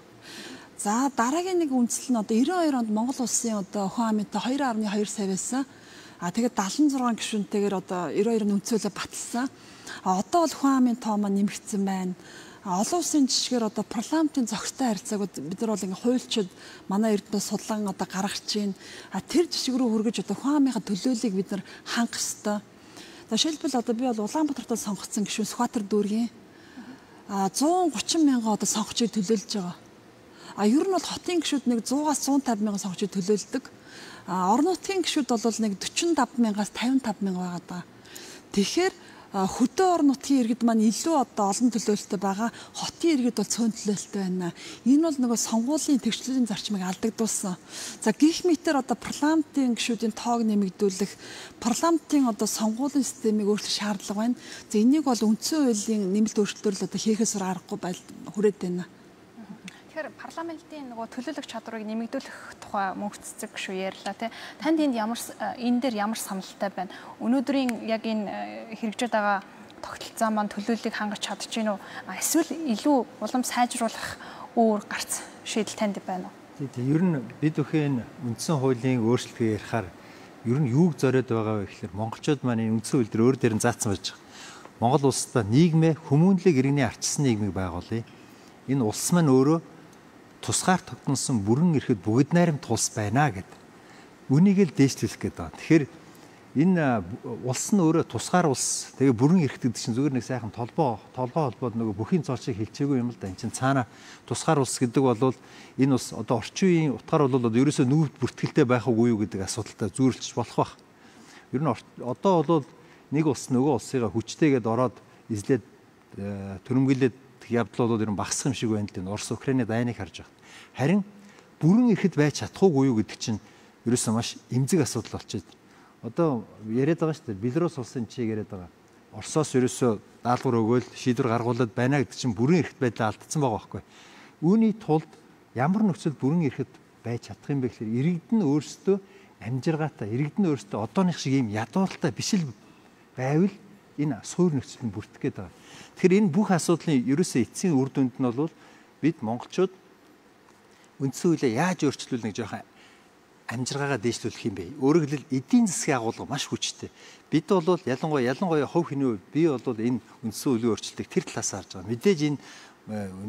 За дараагийн нэг үндэслэл нь одоо 92 онд Монгол улсын одоо хүн амынтай 2.2 сая байсан. А тэгээд 76 гишүүнтэйгээр одоо 92-ын үнцөлөө баталсан. А одоо бол хүн амын тоо маань нэмэгдсэн байна. Олон улсын жишгээр одоо парламентын зохистой харьцааг бид нар бол ингээ хуульчид манай эрдэнэ судлан одоо гаргаж чинь. А тэр жишг рүү хүргэж одоо хүн амынхаа төлөөллийг бид нар хангах ёстой. За жишээлбэл одоо би бол Улаанбаатарт сонгогдсон гишүүн Сүхбаатар дүүргийн 130 мянган одоо сонгогчийг төлөөлж байгаа. А ер нь бол хотын гишүүд нэг 100-аас 150 мянган сонгогчийг төлөөлдөг. Орон нутгийн гишүүд бол нэг 45 мянгаас 55 мянга байгаа даа. Тэгэхээр хөдөө орон нутгийн иргэд маань илүү одоо олон төлөөлөлтөй байгаа. Хотын иргэд бол цөөн төлөөлөлтөй байна. Энэ бол нөгөө сонгуулийн тэгшлэлийн зарчмыг алдагдуулсан. За гих мэтэр одоо парламентын гишүүдийн тоог нэмэгдүүлэх, парламентын одоо сонгуулийн системийг өөрчлөх шаардлага байна. За энийг бол үндсэн хуулийн нэмэлт өөрчлөлтөөр л одоо хийхээс аргагүй хүрээд байна. Тэгэхээр парламентын нөгөө төлөөлөх чадварыг нэмэгдүүлэх тухай мөнх цэцэг шүү ярьлаа тий. Танд энэ дээр ямар саналтай байна? Өнөөдрийн яг энэ хэрэгжээд байгаа тогтолцоо маань төлөөллийг хангаж чадж гин үү? Эсвэл илүү улам сайжруулах өөр гарц шийдэл танд байна уу? Тий. Ер нь бид бүхэн үндсэн хуулийн өөрчлөлтийг ярихаар ер нь юуг зориод байгаа вэ гэхээр монголчууд маань үндсэн хууль дээр өөр дээр нь заасан байж байгаа. Монгол улсдаа нийгмээ хүмүүнлэг иргэний арчсан нийгмийг байгуулъя. Энэ улс маань өөрөө тусгаар тогтносон бүрэн эрхэд бүгд найрамд улс байна гэд. Үнийг л дээшлүүлэх гээд байгаа. Тэгэхээр энэ улс нь өөрөө тусгаар улс. Тэгээ бүрэн эрхт гэдэг чинь зүгээр нэг сайхан толгой холбоод нөгөө бүхийн цоолчийг хэлчихээгүй юм л да. Энд чинь цаана тусгаар улс гэдэг бол энэ улс одоо орчин үеийн утгаар бол ерөөсөө нүүрд бүртгэлтэй байх уу юу гэдэг асуудалтай зүйрлж болох байх. Ер нь одоо бол нэг улс нөгөө улсыгаа хүчтэйгээд ороод эзлээд төрөмгөлээд явдал бол ер нь багасах юм шиг байна л дээ. Орос Украины дайныг харж байгаа. Харин бүрэн ихэд байж чадахгүй юу гэдэг чинь ерөөсөө маш эмзэг асуудал болчиход. Одоо яриад байгаа шүү дээ. Белорус улсын чиг яриад байгаа. Оросоос ерөөсөө даалгавар өгөөл шийдвэр гаргуулад байна гэдэг чинь бүрэн эрхт байдлаа алдсан байгаа байхгүй. Үүний тулд ямар нөхцөл бүрэн эрхт байж чадах юм бэ гэхээр иргэд нь өөрсдөө амжиргаатай, иргэд нь өөрсдөө одооных шиг ийм ядууралтай биш л байвал энэ суур нөхцөл нь бүртгэх гээд байгаа. Тэгэхээр энэ бүх асуудлын ерөөсөө эцсийн үр дүнд нь бол бид монголчууд үндсэн хуулийг яаж өөрчлүүлнэ гэж яхаа амжиргаагаа дээшлүүлэх юм бэ? Өөрөөр хэлбэл эдийн засгийн агуулга маш хүчтэй. Бид бол ялангуяа хувь хүний хувьд би бол энэ үндсэн хуулийн өөрчлөлтийг тэр талаас харж байгаа. Мэдээж энэ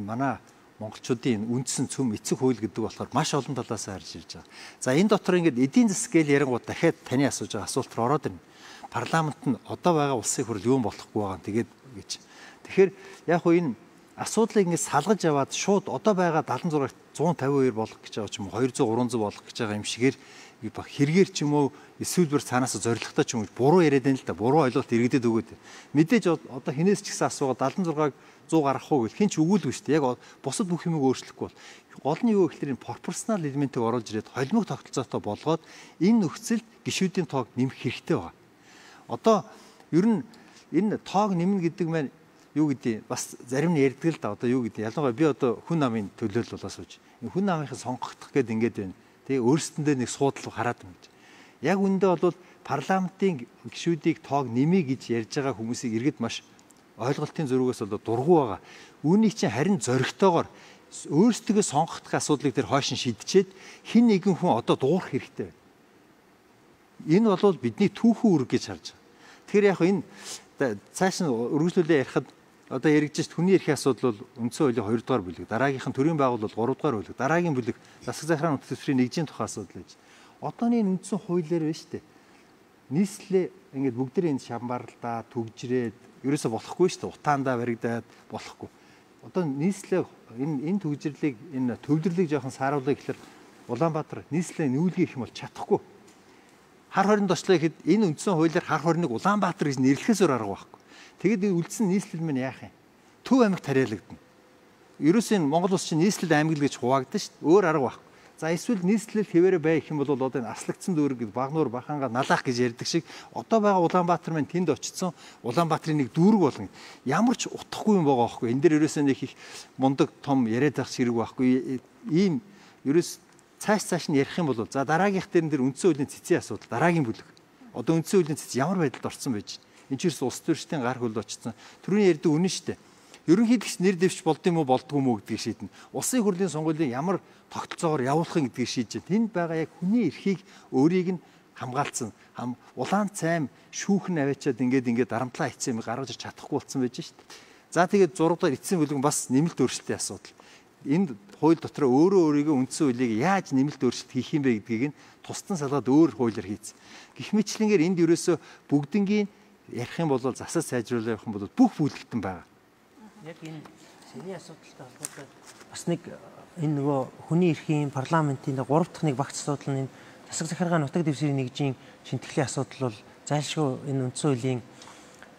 манай монголчуудын үндсэн цөм эцэг хууль гэдэг болохоор маш олон талаас харж ирж байгаа. За энэ дотор ингээд эдийн засгийн ярингууд дахиад таны асууж байгаа асуулт руу ороод ирнэ. Парламент нь одоо байгаа улсын хурл юу болохгүй байгаа тэгээд гэж. Тэгэхээр яг хөө энэ асуудлыг ингээд салгаж аваад шууд одоо байгаа 76-т 152 болох гэж байгаа ч юм уу 200 300 болох гэж байгаа юм шигээр хэрэгээр ч юм уу эсвэл цаанаас зоригтой ч юм уу буруу яриад байна л да. Буруу ойлголт иргэдэд өгөөд. Мэдээж одоо хинээс ч гэсэн асуугаад 76-г 100 гаргах уу гэх хин ч өгүүлгүй шүү дээ. Яг бусад бүх юмыг өөрчлөхгүй бол гол нь юу гэхээр энэ пропорционал элементийг оруулж ирээд холимог тогтолцоотой болгоод энэ нөхцөлд гишүүдийн тоог нэмэх хэрэгтэй байна. Одоо ер нь энэ тоог нэмнэ гэдэг маань юу гэдэг бас зарим нь ярьдаг л да. Одоо юу гэдэг ялангуяа би одоо хүн намын төлөөлөл болоо сууж. Хүн намынхаа сонгогдох гэдэг ингээд байна. Тэгээ өөрсдөндөө нэг суудлыг хараад байна гэж. Яг үндэ бол парламентын гишүүдийг тоог нэмье гэж ярьж байгаа хүмүүсийг иргэд маш ойлголтын зөрүүгээс бол дургу байгаа. Үүнийг чинь харин зоригтойгоор өөрсдөө сонгогдох асуудлыг тэр хойш нь шийдчихэд хин нэгэн хүн одоо дуурах хэрэгтэй байна. Энэ бол бидний түүхэн үүрэг гэж харж байгаа. Тэгэхээр яг энэ цааш нь үргэлжлүүлээ ярихад одоо яригдж хүний эрхийн асуудал бол үндсэн хуулийн 2 дугаар бүлэг, дараагийнх нь төрийн байгууллага 3 дугаар бүлэг, дараагийн бүлэг засаг захиргааны төсвийн нэгжийн тухай асуудал гэж. Одооний үндсэн хуулиар байна шүү дээ. Нийслэлээ ингээд бүгдээ энэ шамбарлаа, түгжрээд ерөөсө болохгүй шүү дээ. Утаандаа баригдаад болохгүй. Одоо нийслэлээ энэ түгжрлийг энэ төвлөрлийг жоохон сааруулъя гэхээр Улаанбаатар нийслэлээ нүүлгэх юм бол чадахгүй. Хар хорин тослоо гэхэд энэ үндсэн хуулиар хар хориныг Улаанбаатар гэж нэрлэхээс өөр арга байхгүй. Тэгэд үлдсэн нийслэл мань яах юм? Төв аймагт тариалагдана. Ерөөс энэ Монгол улс чинь нийслэл аймаг л гэж хуваагдсан шүү дээ. Өөр арга байхгүй. За эсвэл нийслэл хэвээрээ байх юм бол одоо энэ аслагдсан дүүрэг гэдэг Багнуур Баханга налах гэж ярьдаг шиг одоо байгаа Улаанбаатар мань тэнд очсон Улаанбаатарын нэг дүүрэг болгоно. Ямар ч утахгүй юм байгаа байхгүй. Энэ дээр ерөөсөө нэг их мундаг том яриад байх хэрэг байхгүй. Ийм ерөөс цааш нь ярих юм бол за дараагийнх дээр үндсэн хуулийн цэцгийн асуудал дараагийн бүлэг. Одоо үндсэн хуулийн цэц ямар байдалд орсон байж. Энд ч улс төрчдийн гар хөл очсон. Түрүүний ярьдаг үнэн шүү дээ. Ерөнхийдөгч нэр дэвч болдсон юм уу болдгүй юм уу гэдгийг шийднэ. Улсын хурлын сонгуулийн ямар тогтолцоогоор явуулах гэдгийг шийдэж байна. Тэнд байгаа яг хүний эрхийг өөрийг нь хамгаалсан. Улаан цайм шүүхэн аваачаад ингээд дарамтлаа хийцэн юм гаргаж ирч чадахгүй болсон байж шүү дээ. За тэгээд 6 дугаар эцсийн бүлэг бас нэмэлт өөрчлөлтийн асуудал. Энд хууль дотор өөрийгөө үндсэн хуулийг яаж нэмэлт өөрчлөлт хийх юм бэ гэдгийг нь тусдан салгаад өөр хуулиар хийцэн. Гэх мэтлэнгээр энд ерөөсөө бүгднгийн ярих юм бол засаж сайжруулах явах юм бол бүх бүлэгтэн байгаа. Яг энэ сэний асуудалтай холбоотой бас нэг энэ нөгөө хүний эрхийн парламентын 3 дахь нэг багц асуудал нь энэ засаг захиргааны нутаг дэвсгэрийн нэгжийн шинтгэлийн асуудал бол зайлшгүй энэ үндсэн хуулийн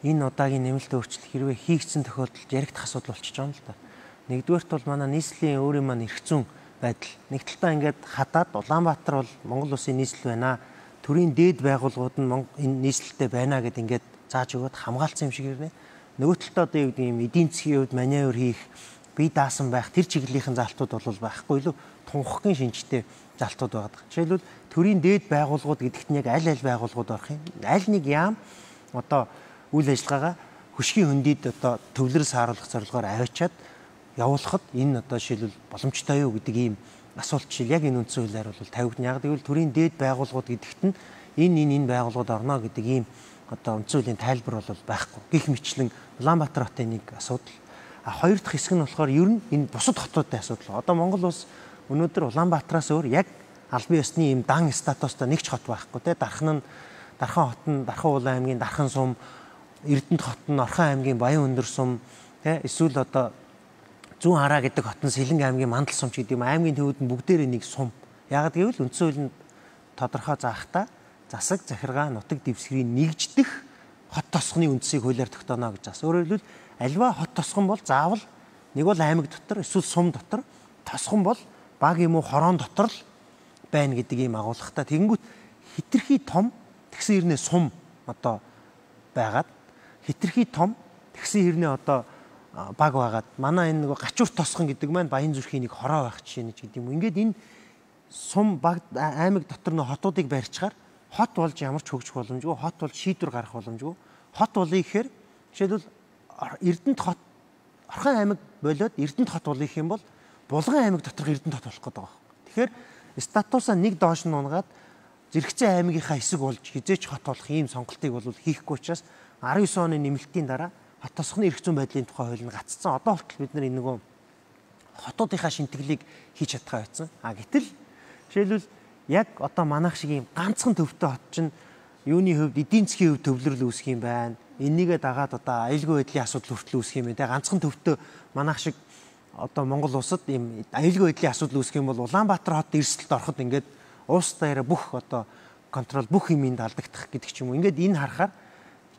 энэ удаагийн нэмэлт өөрчлөлт хэрвээ хийгдсэн тохиолдолд яригдах асуудал болчихж байгаа юм л да. Нэгдүгээрт бол манай нийслэлийн өөрийн маань эрх зүйн байдал. Нэг талдаа ингээд хадаад Улаанбаатар бол Монгол улсын нийслэл байна. Төрийн дээд байгууллагууд нь энэ нийслэлтэй байна гэд ингээд зааж өгөөд хамгаалсан юм шиг ирнэ. Нөгөө талдаа одоо юу гэдэг юм эдийн засгийн хувьд маневр хийх, бие даасан байх тэр чиглэлийн залтууд бол байхгүй илүү тунхагийн шинжтэй залтууд байдаг. Жишээлбэл төрийн дээд байгууллагууд гэдэгт нь яг аль байгууллагууд орох юм. Аль нэг яам одоо үйл ажиллагаагаа хөшгийн хөндөд одоо төвлөрөл сааруулах зорилгоор аваачаад явуулахад энэ одоо жишээлбэл боломжтой юу гэдэг ийм асуулт жишээл яг энэ үндсэн хуулиар бол тавигдана. Яг гэвэл төрийн дээд байгууллагууд гэдэгт нь энэ байгууллагууд орно гэдэг ийм одоо үндсэн хуулийн тайлбар бол байхгүй. Гэх мэтлэн Улаанбаатар хотын нэг асуудал. Хоёр дахь хэсэг нь болохоор ер нь энэ бусад хотуудын асуудал. Одоо Монгол улс өнөөдөр Улаанбаатараас өөр яг албан ёсны ийм дан статустай нэг ч хот байхгүй те. Дархан хот нь Дархан Улаан аймгийн Дархан сум, Эрдэнэт хот нь Орхон аймгийн Баян өндөр сум те. Эсвэл одоо Зүүн хараа гэдэг хот нь Сэлэнг аймгийн Мандал сум ч гэдэг юм аймгийн төвүүд нь бүгдээрээ нэг сум. Яг гэвэл үндсэн хуулийн тодорхой заахта засаг захиргаа нутаг дэвсгэрийн нэгждэх хот тосгоны үндсийг хуулиар тогтооно гэж бас. Өөрөөр хэлбэл альва хот тосгон бол заавал нэг бол аймаг дотор эсвэл сум дотор, тосгон бол баг юм уу хороон дотор л байна гэдэг ийм агуулгатай. Тэгэнгүүт хитрхи том тэгсэн хэрнээ сум одоо байгаад хитрхи том тэгсэн хэрнээ одоо баг байгаад манай энэ нэг гачуур тосгон гэдэг маань Баян зүрхийн нэг хороо байх жишээ нэг гэдэг юм. Ингээд энэ сум баг аймаг дотор нөө хотуудыг барьчихаар хот болж ямар ч хөгжих боломжгүй, хот бол шийдвэр гарах боломжгүй. Хот болъё гэхээр жишээлбэл Эрдэнэт хот Орхон аймаг болоод Эрдэнэт хот болъё гэх юм бол Булган аймаг доторх Эрдэнэт хот болох гэдэг байгаа. Тэгэхээр статусаа нэг доош нь унгаад зэрэгцээ аймгийнхаа хэсэг болж хизээч хот болох ийм сонголтыг бол хийхгүй учраас 19 оны нэмэлтийн дараа хот тосгоны эрх зүйн байдлын тухай хууль нь гацсан. Одоо хүртэл бид нар энэ нөгөө хотуудынхаа шинтгэлийг хийж чадхаа байсан. Гэтэл жишээлбэл яг одоо манайх шиг ийм ганцхан төвтэй хот чинь юуны хувьд эдийн засгийн хувьд төвлөрөл үүсэх юм байна. Энийгээ дагаад одоо аюулгүй байдлын асуудал хүртэл үүсэх юм байна. Ганцхан төвтэй манайх шиг одоо Монгол улсад ийм аюулгүй байдлын асуудал үүсэх юм бол Улаанбаатар хот эрсдэлд ороход ингээд уус даяараа бүх одоо контрол бүх юмд алдагдах гэдэг ч юм уу. Ингээд энэ харахаар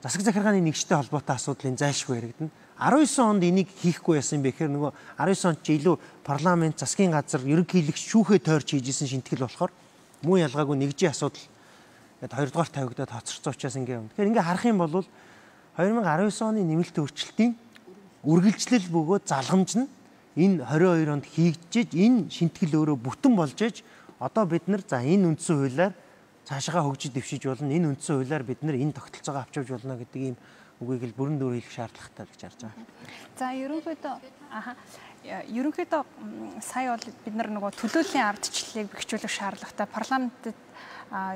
засаг захиргааны нэгжтэй холбоотой асуудлын зайлшгүй яригдана. 19 онд энийг хийхгүй байсан юм бэ гэхээр нөгөө 19 онд чи илүү парламент, засгийн газар, ерөнхийлөгч шүүхээ тойрч хийжсэн шинтгэл болохоор муу ялгаагүй нэгжийн асуудал гэдэг хоёрдугаар тавигдаад хоцорсон учраас ингээ юм. Тэгэхээр ингээ харах юм бол 2019 оны нэмэлт өөрчлөлтийн үргэлжлэл бөгөөд залгамж нь энэ 22 онд хийгдэж энэ шинтгэл өөрөө бүтэн болж ээж одоо бид нар за энэ үндсэн хуулиар цаашаа хөгжиж дэвшиж болно. Энэ үндсэн хуулиар бид нар энэ тогтолцоогоо авч явж болно гэдэг ийм үгийг л бүрэн дүүрэн хэлэх шаардлагатай гэж харж байгаа. За ерөнхийдөө сая бол бид нар нөгөө төлөөллийн ардчлалыг бэхжүүлэх шаардлагатай парламентэд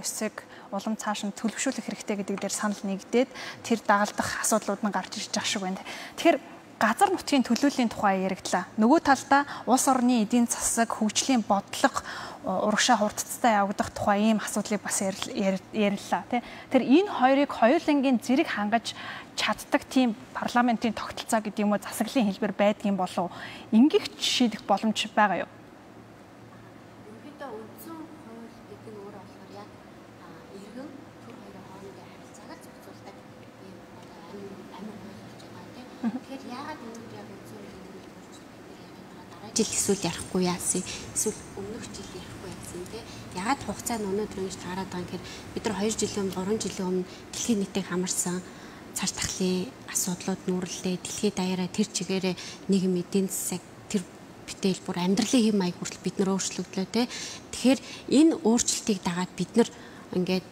эсэг улам цааш нь төлөвшүүлэх хэрэгтэй гэдэг дээр санал нэгдээд тэр дагалдах асуудлууд нь гарч ирж байгаа шиг байна. Тэгэхээр газар нутгийн төлөөллийн тухай яригдлаа. Нөгөө талдаа улс орны эдийн засаг хөгжлийн бодлого урагшаа хурдцтай явагдах тухай ийм асуудлыг бас яриллаа тий. Тэр энэ хоёрыг хоёулангийн зэрэг хангаж чаддаг тийм парламентын тогтолцоо гэдэг юм уу засаглалын хэлбэр байдгийн болов ингэх шийдэх боломж байгаа юу? Ерөнхийдөө үндсэн хууль гэдэг нь өөрөө болохоор яг иргэн төр хоёрын хоорондын харилцаагаар зохицуулдаг ийм амин хууль болж байгаа тийм. Тэгэхээр яагаад энэ яг үндсэн хуулийн дараа жил эсвэл ярихгүй яасан эсвэл өмнөх жил ярихгүй яасан тийм. Яагаад хугацаа нь өнөөдөр ингэж таарад байгаа юм гэхээр бид нар 2 жилийн өмнө 3 жилийн өмнө дэлхийн нийтийг хамарсан цааш тахлын асуудлууд нүүрлээ. Дэлхийд даяараа тэр чигээрээ нийгэм эдийн засаг тэр битэл бүр амьдралын хэм маяг хүртэл бид нар өөрчлөгдлөө те. Тэгэхээр энэ өөрчлөлтийг дагаад бид нар ингээд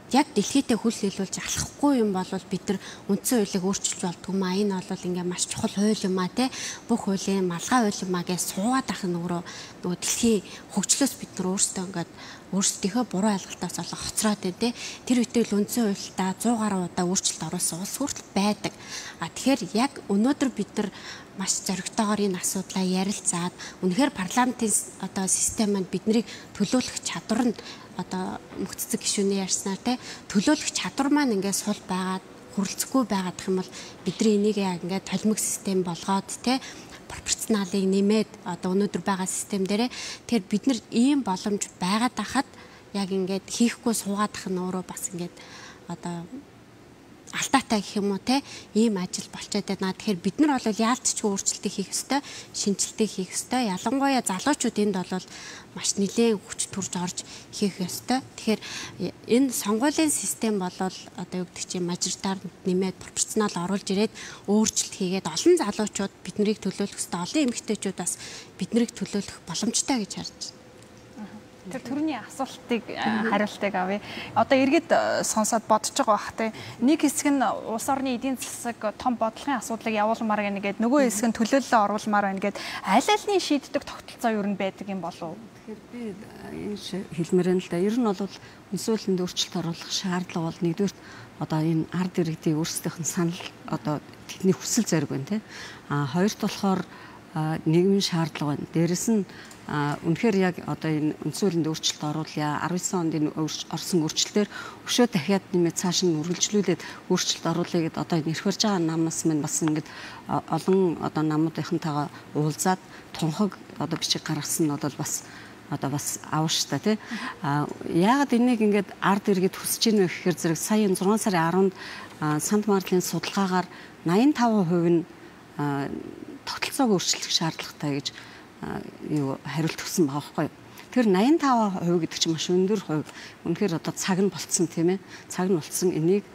яг дэлхийдээ хүл нийлүүлж алхахгүй юм бол бид нар үндсэн хуулийг өөрчилж болдгоо маа. Энэ бол ингээ маш чухал хууль юм аа те. Бүх хуулийн малгай хууль юм аа гэж суугаад ах нөгөө дэлхийн хөгжлөөс бид нар өөрсдөө ингээд өөрсдийнхөө буруу ойлголтоос олох хоцроод байна те. Тэр үедээ л үндсэн хуульдаа 100 гаруй удаа өөрчлөлт оруулсан улс хүртэл байдаг. Тэгэхээр яг өнөөдөр бид нар маш зоригтойгоор энэ асуудлаа ярилцаад үнэхээр парламентын одоо системд биднийг төлөөлөх чадвар нь одоо мөхцөг гишүүний ярьснаар те төлөөлөх чадвар маань ингээд сул байгаад хүрэлцэхгүй байгаад гэх юм бол бидний энийг яг ингээд толимог систем болгоод те пропорционалыг нэмээд одоо өнөөдөр байгаа систем дээрээ тэр бид нар ийм боломж байгаад ахад яг ингээд хийхгүй суугаад ах нь өөрөө бас ингээд одоо алдаатай гэх юм уу те ийм ажил болчиход байна. Тэгэхээр бид нар бол яалтчгүй өөрчлөлтийг хийх ёстой, шинжилтийг хийх ёстой. Ялангуяа залуучууд энд бол маш нэлээд хүч төрж орж хийх ёстой. Тэгэхээр энэ сонгуулийн систем бол одоо юу гэдэг чинь мажоритар нэмээд пропорционал оруулж ирээд өөрчлөлт хийгээд олон залуучууд биднийг төлөөлөх ёстой. Олон эмэгтэйчүүд бас биднийг төлөөлөх боломжтой гэж харж байна. Тэр төрний асуултыг хариултыг авъя. Одоо эргээд сонсоод бодож байгаа бах те. Нэг хэсэг нь улс орны эдийн засаг том бодлогын асуудлыг явуулмаар гэнэ гээд нөгөө хэсэг нь төлөөлөлөө оруулмаар байна гээд аль альны шийддэг тогтолцоо юу н байдаг юм болов уу? Тэгэхээр би энэ хэлмээрэн л да. Ер нь бол үндсэн хуулинд өөрчлөлт оруулах шаардлага бол нэгдүгээр одоо энэ ард иргэдийн өөрсдийнх нь санал одоо тэдний хүсэл зориг байна те. Хоёрт болохоор нийгмийн шаардлага байна. Дээрэс нь үнэхээр яг одоо энэ үндсэн хуулинд өөрчлөлт оруулъя 19 онд энэ орсон өөрчлөлтөөр өшөө дахиад нэмээд цааш нь үргэлжлүүлээд өөрчлөлт оруулъя гэдээ одоо энэ эрхвэрж байгаа намнаас минь бас ингээд олон одоо намуудынхантайгаа уулзаад тунхаг одоо бичиг гаргасан нь бол бас одоо бас авштай тий. Яагаад энийг ингээд ард иргэд хүсэж ийнө гэхээр зэрэг сая 6 сарын 10-нд Санд Марлын судалгаагаар 85% нь тогтолцоог өөрчлөх шаардлагатай гэж юу хариулт өгсөн байгаа байхгүй. Тэр 85% гэдэг чинь маш өндөр хувь. Үнэхээр одоо цаг нь болцсон тийм ээ. Цаг нь болцсон энийг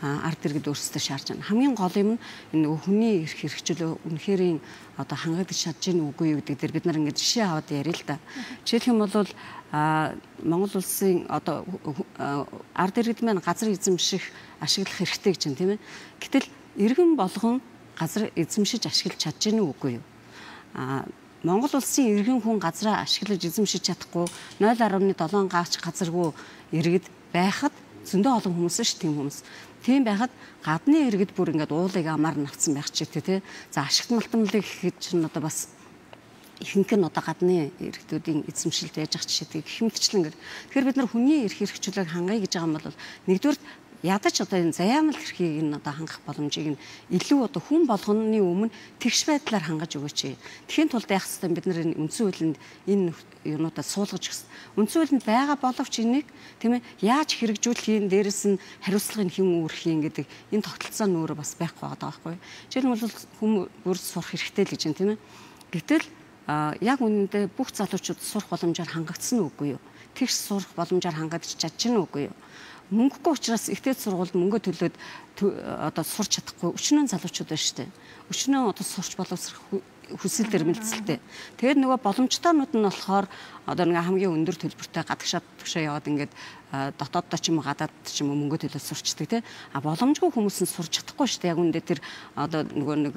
ард иргэд өөрсдөө шаарж байна. Хамгийн гол юм нь энэ хүний эрх хэрэгжил үнэхэрийн одоо хангагдаж чадж гин үгүй юу гэдэг дээр бид нар ингээд жишээ аваад ярил л да. Жишээлх юм бол Монгол улсын одоо ард иргэд маань газар эзэмших ашиглах хэрэгтэй гэж байна тийм ээ. Гэтэл иргэн болгон газар эзэмшиж ашиглаж чадж гин үгүй юу? Монгол улсын иргэн хүн газраа ашиглаж эзэмшиж чадахгүй 0.7 гаач газаргүй иргэд байхад зөндөө олон хүмүүс ш тийм хүмүүс. Тийм байхад гадны иргэд бүр ингээд уулыг амаар навцсан байх ч гэдэг тий. За ашигт малтмлыг гэхэд чинь одоо бас ихэнх нь одоо гадны иргэдүүдийн эзэмшилд байж ах жишээтэй гэх мэтчлэн ингээд. Тэгэхээр бид нар хүний эрх хэрэгжүүлэг хангая гэж байгаа юм бол нэгдүгээр ядаж одоо энэ заяамал эрхийг нь одоо хангах боломжийг нь илүү одоо хүн болгоны өмнө тэгш байдлаар хангаж өгөөч. Тэхийн тулд яах ёстой бид нар энэ үндсэн хуулинд энэ юунуудаа суулгаж өгсөн. Үндсэн хуулинд байгаа боловч энийг тийм ээ яаж хэрэгжүүлэхийн дээрэс нь хариуцлагын хэн үүрхийн гэдэг энэ тогтолцоо нь өөрөө бас байхгүй байгаа байхгүй. Жишээ нь бол хүмүүс сурах хэрэгтэй л гэж байна тийм ээ. Гэтэл яг үнэндээ бүх залуучууд сурах боломжоор хангагдсан уу үгүй юу? Тэгш сурах боломжоор хангагдаж чадчихна үгүй юу? Мөнгөгүй учраас ихтэй сургуульд мөнгө төлөөд одоо сурч чадахгүй өчнөө залуучууд байна шүү дээ. Өчнөө одоо сурч боловсрох хүсэл эрмэлзэлтэй. Тэгээд нөгөө боломжтойнууд нь болохоор одоо нэг хамгийн өндөр төлбөртэй гадагшаа яваад ингээд дотооддоо ч юм уу гадаад ч юм уу мөнгө төлөөд сурчдаг тий. Боломжгүй хүмүүс нь сурч чадахгүй шүү дээ. Яг үндэ тэр одоо нөгөө нэг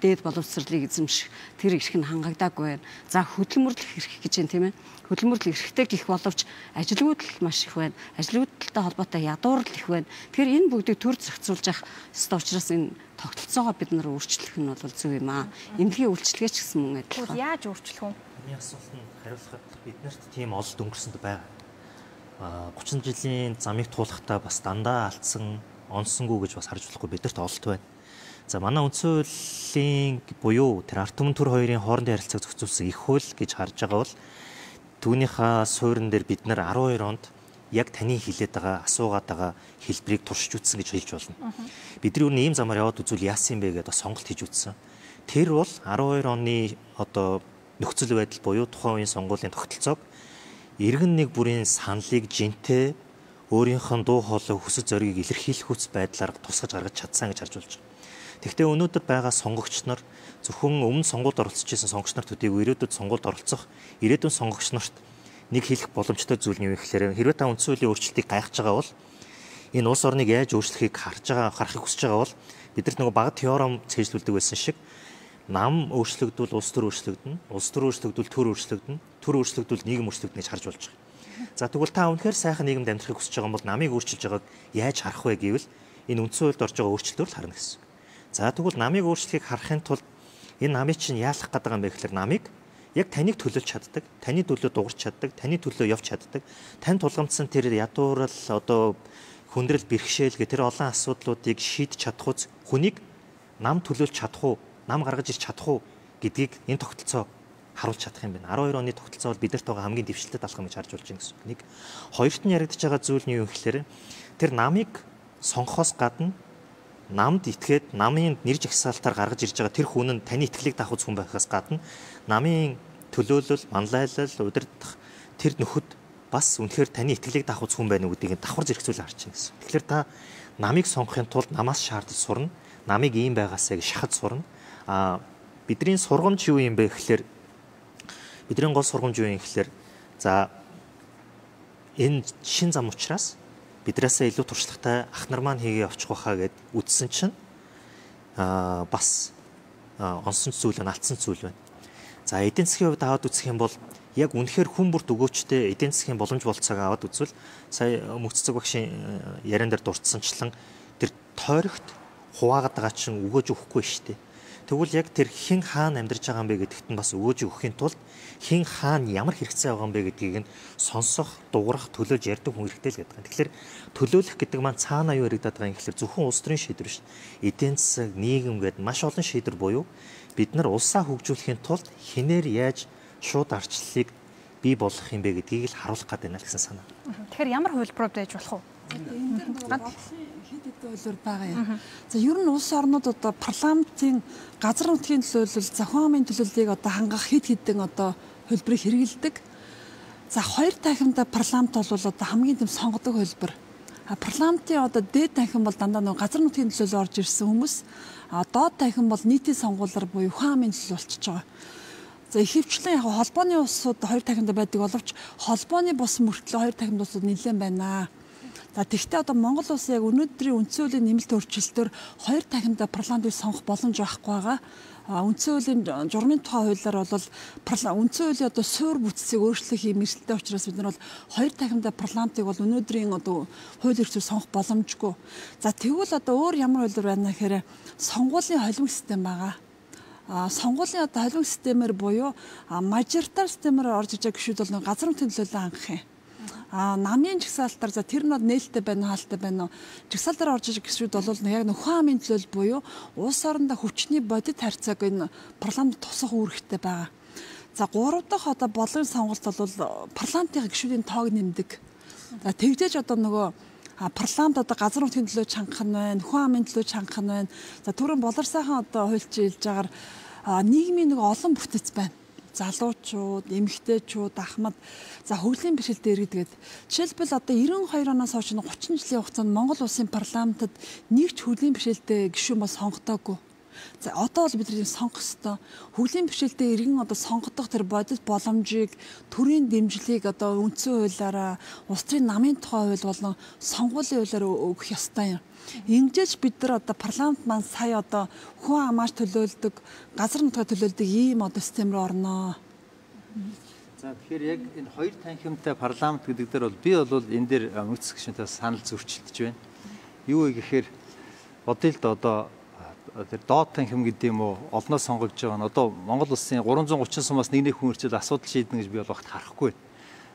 дээд боловсролыг эзэмших тэр эрх нь хангагдаагүй байна. За хөдөлмөрлөх эрх гэж байна тийм ээ. Хөдөлмөрлөх эрхтэй гих боловч ажилгүйдэл маш их байна. Ажилгүйдэлтэй холбоотой ядуурл их байна. Тэгэхээр энэ бүгдийг төр зохицуулж явах ёстой учраас энэ тогтолцоогоо бид нар өөрчлөх нь бол зөв юм аа. Эмнэлгийн үйлчлэгээ ч гэсэн мөн адилхан. Яаж өөрчлөх вэ? Миний асуултанд хариулахад биднэрт тийм олд өнгөрсөнд байгаа. 30 жилийн замыг туулахдаа бас дандаа алдсан, онсонгүй гэж бас харж болохгүй бидэрт олд байна. За манай үндсэн хуулийн буюу тэр ард түмэн төр хоёрын хоорондын харилцааг зохицуулсан их хууль гэж харж байгаа бол түүнийхээ суурин дээр бид нар 12 онд яг таны хэлээд байгаа асуугаад байгаа хэлбэрийг туршиж үзсэн гэж хэлж болно. Бидний өөр ийм замаар яваад үзвэл яасан бэ гэдэг сонголт хийж үзсэн. Тэр бол 12 оны одоо нөхцөл байдал буюу тухайн үеийн сонгуулийн тогтолцоог иргэн нэг бүрийн саналыг жинтэй өөрийнх нь дуу хоолой хүсэл зориг илэрхийлэх хүч байдлаар тусгаж гаргаж чадсан гэж харж болж байгаа. Тэгэхдээ өнөөдөр байгаа сонгогч нар зөвхөн өмнө сонгуульд оролцож исэн сонгогч нарт төдийгүй ирээдүйд сонгуульд оролцох ирээдүйн сонгогч нарт нэг хэлэх боломжтой зүйл нь юу гэхээр хэрвээ та үндсэн хуулийн өөрчлөлтийг гайхаж байгаа бол энэ улс орныг яаж өөрчлөхийг харахыг хүсэж байгаа бол бидэрт нөгөө бага теорем цээжлүүлдэг байсан шиг нам өөрчлөгдвөл улс төр өөрчлөгдөнө, улс төр өөрчлөгдвөл төр өөрчлөгдөнө, төр өөрчлөгдвөл нийгэм өөрчлөгдөнө гэж харж болж байгаа. За тэгвэл та үнэхээр сайхан нийгэмд амьдрахыг хүсэж байгаа бол намыг өөрчилж байгааг яаж харах вэ гэвэл энэ үндсэн хуульд орж байгаа өөрчлөлтөөр л харна гэсэн. За тэгвэл намыг өөрчлөхийг харахын тулд энэ намыг чинь яалах гэдэг юм бэ гэхээр намыг яг таныг төлөөлж чаддаг, таны төлөө дуурч чаддаг, таны төлөө явж чаддаг, тань тулгамдсан тэр ядуурл одоо хүндрэл бэрхшээл гэх тэр олон асуудлуудыг шийдэж чадах үз хүнийг нам төлөөлж чадах уу, нам гаргаж ирч чадах уу гэдгийг энэ тогтолцоо харуулж чадах юм байна. 12 оны тогтолцоо бол бидэрт байгаа хамгийн дэвшилтэд алхам гэж харж болж байна гэсэн нэг. Хоёрт нь яригдж байгаа зүйл нь юу гэхээр тэр намыг сонгохоос гадна намд итгээд намын нэр жагсаалтаар гаргаж ирж байгаа тэр хүн нь таны итгэлийг давах хүн байхаас гадна намын төлөөлөл, манлайлал, удирдах тэр нөхөд бас үнэхээр таны итгэлийг давах хүн байна гэдгийг давхар зэрэгцүүлж харж байна гэсэн. Тэгэхээр та намыг сонгохын тулд намаас шаардаж сурна, намыг ийм байгаасаа гэж шахаж сурна. Бидний сургамж юу юм бэ гэхээр бидний гол сургамж юу юм гэхээр за энэ шин зам учраас биднээсээ илүү туршлагатай ах нар маань хийгээ явчих واخа гэд үтсэн чинь бас онсон зүйл байна, алдсан зүйл байна. За эдийн засгийн хувьд аваад үзэх юм бол яг үнэхээр хүн бүрт өгөөчтэй эдийн засгийн боломж болцоог аваад үзвэл сая мөццөг багшийн яриан дээр дурдсанчлан тэр тойрогт хуваагаад байгаа чинь өгөөж өгөхгүй шүү дээ. Тэгвэл яг тэр хэн хаана амьдарч байгаа юм бэ гэдэгт нь бас өгөөж өгөхийн тулд хэн хаана ямар хэрэгцээ байгаа юм бэ гэдгийг нь сонсох, дуурах, төлөөлж ярьдаг хүн хэрэгтэй л гэдэг. Тэгэхээр төлөөлөх гэдэг маань цаана юу яригадаад байгаа юм гэхээр зөвхөн улс төрийн шийдвэр шүү дээ. Эдийн засаг, нийгэм гэдэг маш олон шийдвэр буюу бид нар улсаа хөгжүүлэхийн тулд хинээр яаж шууд арчлалыг бий болгох юм бэ гэдгийг л харуулах гэдэг байна л гэсэн санаа. Тэгэхээр ямар хувилбарууд байж болох вэ? Энэ дээр хэд хэдэн үйлдвэр байгаа юм. За ер нь улс орнууд одоо парламентын газар нутгийн төлөөлөл, зохион амын төлөөллийг одоо хангах хэд хэдэн одоо хувилбарыг хэрэгэлдэг. За хоёр танхимдаа парламент бол одоо хамгийн том сонгодог хувилбар. Парламентын одоо дээд танхим бол дандаа нэг газар нутгийн төлөөлөл орж ирсэн хүмүүс. Доод танхим бол нийтийн сонгуулиар буюу ухаан амын төлөөлөл болчихж байгаа. За ихэвчлэн яг холбооны улсууд хоёр танхимдаа байдаг боловч холбооны бус мөртлөө хоёр танхимд улсууд нэлээд байна. За тэгвэл одоо Монгол улс яг өнөөдрийн үндсэн хуулийн нэмэлт өөрчлөлтөөр хоёр танхимдаа парламентыг сонгох боломж байхгүй байгаа. Үндсэн хуулийн журмын тухай хуулиар бол үндсэн хуулийн одоо суур бүтцийг өөрчлөх юм эрсдэлтэй учраас бид нар бол хоёр танхимдаа парламентыг бол өнөөдрийн одоо хууль эрхлэлээр сонгох боломжгүй. За тэгвэл одоо өөр ямар хуулиар байна гэхээр сонгуулийн холимог систем байгаа. сонгуулийн одоо халуун системээр буюу мажоритар системээр орж иж байгаа гишүүд бол газар нутгийн төлөөлөл анх юм. Намын жагсаалтаар за тэр нь нээлттэй байна уу хаалттай байна уу жагсаалтаар орж иж гişүүд бол яг нөхөн амын төлөөлөл буюу улс орондоо хүчний бодит харьцааг энэ парламент тусах үүрэгтэй байгаа. За 3 дахь одоо бодлогын сонголт бол парламентын гишүүдийн тоог нэмдэг. За тэгжээж одоо нөгөө парламент одоо газар нутгийн төлөө чангах нь байна, нөхөн амын төлөө чангах нь байна. За түрүүн болор сайхан одоо хуульчилж байгаа нийгмийн нэг олон бүтэц байна. Залуучууд, эмэгтэйчүүд, ахмад, за хөгжлийн бэрхшээлтэй иргэдэд. Жишээлбэл одоо 92 оноос хойш 30 жилийн хугацаанд Монгол улсын парламентод нэг ч хөгжлийн бэрхшээлтэй гишүүн бол сонгогдоогүй. За одоо бол бид нар сонгох ёстой. Хөгжлийн бэрхшээлтэй иргэн одоо сонгогдох тэр бодит боломжийг төрийн дэмжлэгийг одоо үндсэн хуулиараа улс төрийн намын тухай хууль болон сонгуулийн хуулиар өгөх ёстой юм. Ингэж бид нар одоо парламент маань сая одоо хүн амааш төлөөлдөг, газар нутгаа төлөөлдөг ийм одоо систем рүү орноо. За тэгэхээр яг энэ хоёр танхимтай парламент гэдэг дээр бол би бол энэ дээр мөнх гишүүнтэй санал зөрчилдөж байна. Юу вэ гэхээр бодъё л да одоо тэр доод танхим гэдэг юм уу олноо сонгогдож байгаа нь одоо Монгол улсын 330 сумаас нэг хүн ирчээд асуудал шийднэ гэж би бол багт харахгүй байна.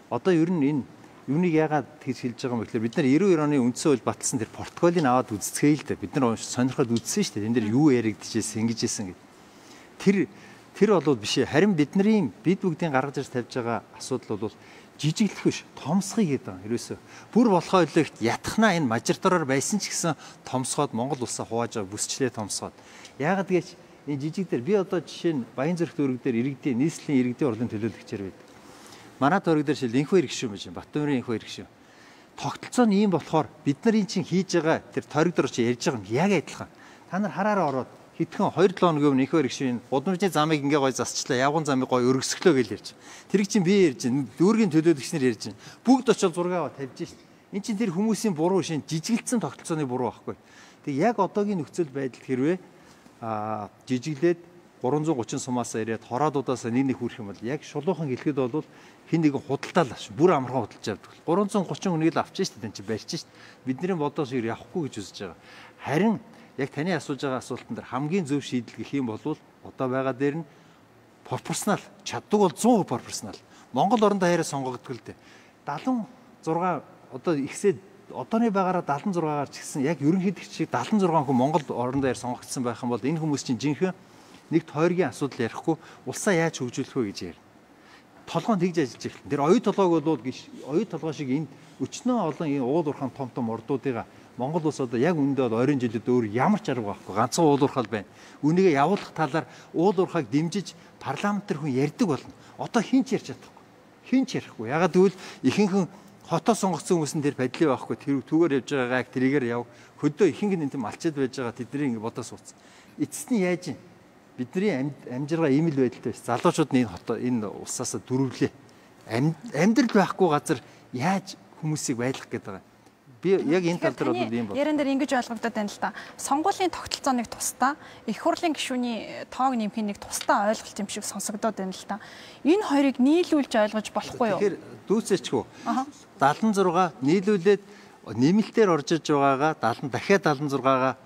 Одоо ер нь энэ юуныг яагаад тэгж хэлж байгаа юм бэ гэхээр бид нар 92 оны үндсэн хууль баталсан тэр протоколыг аваад үзцгээе л дээ. Бид нар сонирхоод үзсэн шүү дээ. Энэ дээр юу яригдчихсэн, ингэж ийсэн гэдэг. Тэр бол биш ээ. Харин бид бүгдийн гаргаж ирж тавьж байгаа асуудал бол жижиглэх биш, томсхий гэдэг юм. Ерөөсөө бүр болохоо илэгт ятхнаа энэ мажоритараар байсан ч гэсэн томсгоод Монгол улсаа хувааж байгаа бүсчлээ томсгоод. Яагаад гэж энэ жижиг дээр би одоо жишээ нь Баянзүрх дүүрэг дээр иргэдийн нийслэлийн иргэдийн урлын төлөөлөгчээр байдаг. Манай дүүрэг дээр шил инхүү ирэх шүү юм. Баттуурын инхүү ирэх шүү. Тогтолцоо нь ийм болохоор бид нар энэ чинь хийж байгаа тэр тойрог дээр чи ярьж байгаа юм яг адилхан. Та нар хараараа ороод хэдхэн 2-7 хоногийн өмнө инхүү ирэх шүү удамжны замыг ингээ гой засчлаа, явган замыг гой өргөсгөлөө гэж ярьж. Тэр чинь би ярьж байна. Дүүргийн төлөөлөгчнэр ярьж байна. Бүгд очиод зураг аваад тавьж шít. Энд чинь тэр хүмүүсийн буруу шин жижигэлцэн тогтолцооны буруу байхгүй. Тэг яг одоогийн нөхцөл байдалд хэрвээ жижиглээд 330 сумаас ирээд хороодуудаас нэг хүрэх юм бол яг шулуухан хэлэхэд бол хин нэгэн худалдаал авч бүр амархан худалдаж авдаг. 330 хүнийг л авч шít энэ чинь барьж шít. Бидний бодоос ир явахгүй гэж үзэж байгаа. Харин яг таны асууж байгаа асуултан дээр хамгийн зөв шийдэл гэх юм бол одоо байгаа дээр нь пропорционал чаддаг бол 100% пропорционал. Монгол орондоо хараа сонгогддог л дээ. 76 одоо ихсээд одооны байгаараа 76-аар ч гэсэн яг ерөнхийдөө шиг 76 хүн Монгол орондоо сонгогдсон байх юм бол энэ хүмүүс чинь жинхэнэ нэг тойргийн асуудал ярихгүй улсаа яаж хөгжүүлэх вэ гэж ярина. Толгойн тэгж ажиллаж эхэлнэ. Тэр оюу толгойг бол оюу толгой шиг энэ өчнөө олон энэ уул уурхайн том ордуудыгаа Монгол улс одоо яг үндэ бол 20 жилд өөр ямар ч арга байхгүй. Ганцхан уул уурхал байна. Үүнийгээ явуулах талаар уул уурхайг дэмжиж парламент төр хүн ярьдаг болно. Одоо хин ч ярьж чадахгүй. Хин ч ярихгүй. Ягаад гэвэл ихэнхэн хотоо сонгогдсон хүмүүс нь тэр падлын байхгүй. Тэр түүгээр явж байгаагаа тэрийгээр яв. Хөдөө ихэнх нь энэ малчаад байж байгаа тэдний ингэ бодоо сууцсан. Эцэст нь яаж юм? Бидний амжиргаа ийм л байдалтай байсан. Залуучууд нь энэ улсаас дөрвөлээ. Амьдрал байхгүй газар яаж хүмүүсийг байлгах гэдэг байгаа. Би яг энэ тал дээр бол ийм байна. Яран дээр ингэж ойлгогдоод байна л да. Сонгуулийн тогтолцооныг тусдаа их хурлын гишүүний тоог нэмэх нэг тусдаа ойлголт юм шиг сонсогдоод байна л да. Энэ хоёрыг нийлүүлж ойлгож болохгүй юу? Тэгэхээр дүүцээчгүй. 76 нийлүүлээд нэмэлтээр орж иж байгаагаа дахиад 76-гаа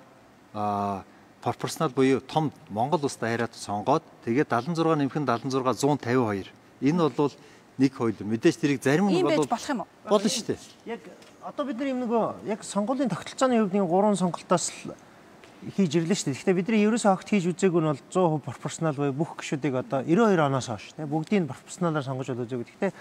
пропорционал буюу том Монгол улстай хараад сонгоод тэгээд 76 нэмэх нь 76 152. Энэ бол нэг хууль. Мэдээж тэрийг зарим нь бол болох юм уу? Болно шүү дээ. Яг одоо бид нар юм нөгөө яг сонгуулийн тогтолцооны хувьд нэг 3 сонголтоос хийж ирлээ шүү дээ. Гэхдээ бидний ерөөсөө огт хийж үзээгүй нь бол 100% пропорционал буюу бүх гишүүдийг одоо 92 оноос хойш тийм бүгдийг пропорционалаар сонгож бол үзээгүй. Гэхдээ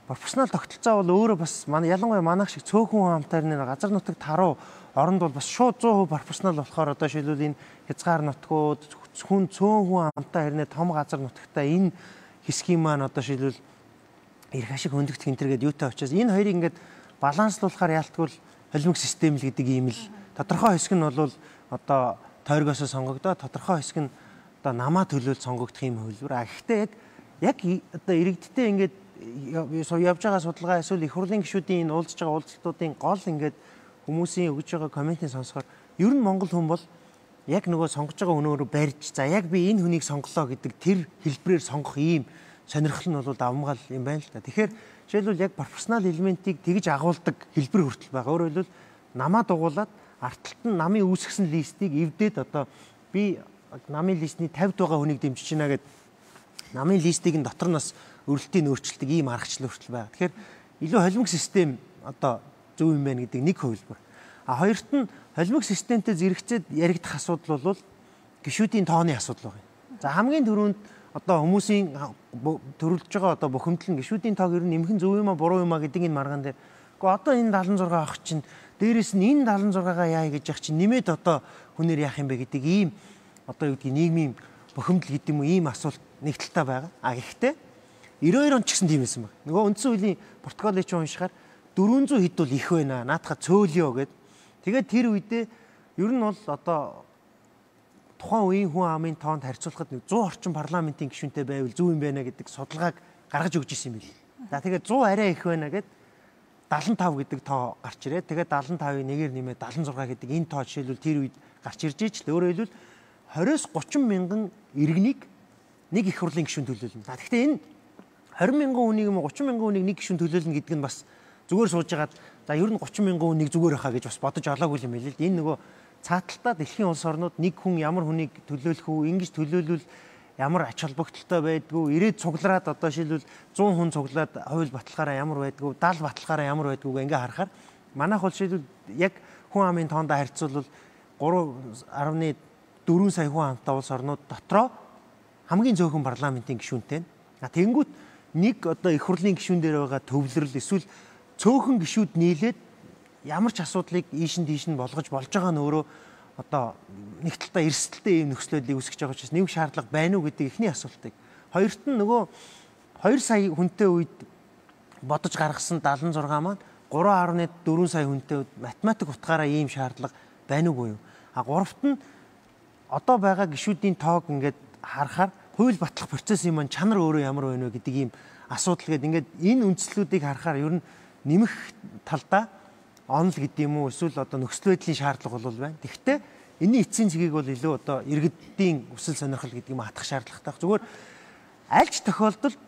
пропорционал тогтолцоо бол өөрөө бас ялангуяа манайх шиг цөөхөн хамтаар нэг газар нутаг таруу оронд бол бас шууд 100% пропорционал болохоор одоо шилбэл энэ хязгаар нутгууд хүн цөөхөн хамтаа хэрнээ том газар нутагтаа энэ хэсгийн маань одоо шилбэл эрх ашиг хөндөгдөх энтергээд юутай очиас энэ хоёрыг ингээд баланслуулахаар яалтгүйл холимог систем л гэдэг ийм л тодорхой хэсэг нь бол одоо тойргоосоо сонгогдоод тодорхой хэсэг нь одоо намаа төлөөл сонгогдох юм хөлбөр. Гэхдээ яг одоо иргэдтэй ингээд явж байгаа судалгаа эсвэл их хурлын гишүүдийн энэ уулзж байгаа уулзалтуудын гол ингээд хүмүүсийн өгж байгаа комментийн сонсохоор ер нь монгол хүн бол яг нөгөө сонгож байгаа өнөөрөө барьж за яг би энэ хүнийг сонголоо гэдэг тэр хэлбэрээр сонгох ийм сонирхол нь бол давмгал юм байна л да. Тэгэхээр жишээлбэл яг пропорционал элементийг тэгж агуулдаг хэлбэр хүртэл байгаа. Өөрөөр хэлбэл намаа дугуулад артталт нь намын үүсгэсэн листийг эвдээд одоо би намын листний 50 байгаа хүнийг дэмжиж байна гэд намын листийг нь дотор нас өрөлтийн өөрчлөлтийг ийм аргачлал хүртэл байгаа. Тэгэхээр илүү холимог систем одоо зөв юм байна гэдэг нэг хувилбар. Хоёрт нь холимог системтэй зэрэгцээд яригдах асуудал бол гишүүдийн тооны асуудал байна. За хамгийн түрүүнд одоо хүмүүсийн төрүүлж байгаа одоо бухимдал нь гишүүдийн тоог ер нь нэмэх нь зөв юм а буруу юм а гэдэг энэ маргаан дээр. Гэхдээ одоо энэ 76 авах чинь дээрэс нь энэ 76-гаа яа гэж явах чинь нэмээд одоо хүнээр яах юм бэ гэдэг ийм одоо юу гэдгийг нийгмийн бухимдал гэдэг юм уу ийм асуулт нэг талтай байгаа. Гэхдээ 92 он ч гэсэн тийм байсан баг. Нөгөө үндсэн хуулийн протоколыг ч уншихаар 400 хэд бол их байна. Наадхаа цөөлё гэд. Тэгээд тэр үедээ ер нь бол одоо тухайн үеийн хүн амын тоонд харьцуулахад 100 орчим парламентын гишүүнтэй байвал зөв юм байна гэдэг судалгааг гаргаж өгч ирсэн юм билээ. За тэгээд 100 арай их байна гэд 75 гэдэг тоо гарч ирээ. Тэгээд 75-ыг нэгээр нэмээд 76 гэдэг энэ тоо жишээлбэл тэр үед гарч ирж ич л өөрөөр хэлбэл 20-30 мянган иргэнийг нэг их хурлын гишүүн төлөөлнө. За гэхдээ энэ 20 мянган хүнийг юм уу 30 мянган хүнийг нэг гишүүн төлөөлнө гэдэг нь бас зүгээр сууж байгаад за ер нь 30 мянган хүнийг зүгээр хаа гэж бас бодож олоогүй юм билээ л. Энэ нөгөө цааталтаа дэлхийн улс орнууд нэг хүн ямар хүнийг төлөөлөх үү, ингэж төлөөлвөл ямар ач холбогдолтой байдгүй, ирээд цуглараад одоо шилбэл 100 хүн цуглаад хууль баталгаараа ямар байдгүй, 70 баталгаараа ямар байдгүйг ингээ харахаар манайх бол шилбэл яг хүн амын тоондоо харьцуулбал 3.4 сая хүн амтай улс орнууд дотроо хамгийн зөөхөн парламентын гишүүнтэй. Тэнгүүт нэг одоо их хурлын гишүүн дээр байгаа төвлөрөл эсвэл цөөхөн гишүүд нийлээд ямар ч асуудлыг ийш нь тийш нь болгож болж байгаа нь өөрөө одоо нэг талдаа эрсдэлтэй ийм нөхцөлөдийг үүсгэж байгаа учраас нэг шаардлага байна уу гэдэг ихний асуултыг. Хоёрт нь нөгөө 2 сая хүнтэй үед бодож гаргасан 76 маань 3.4 сая хүнтэй үед математик утгаараа ийм шаардлага байна уугүй юу? Гуравт нь одоо байгаа гишүүдийн тоог ингээд харахаар хууль батлах процессын маань чанар өөрөө ямар байна вэ гэдэг ийм асуудал гээд ингээд энэ үндслүүдийг харахаар ер нь нэмэх талдаа онл гэдэг юм уу эсвэл одоо нөхцөл байдлын шаардлага бол байна. Тэгэхдээ энэний эцсийн цэгийг бол илүү одоо иргэдийн өсөл сонирхол гэдэг юм хатах шаардлагатай. Зүгээр аль ч тохиолдолд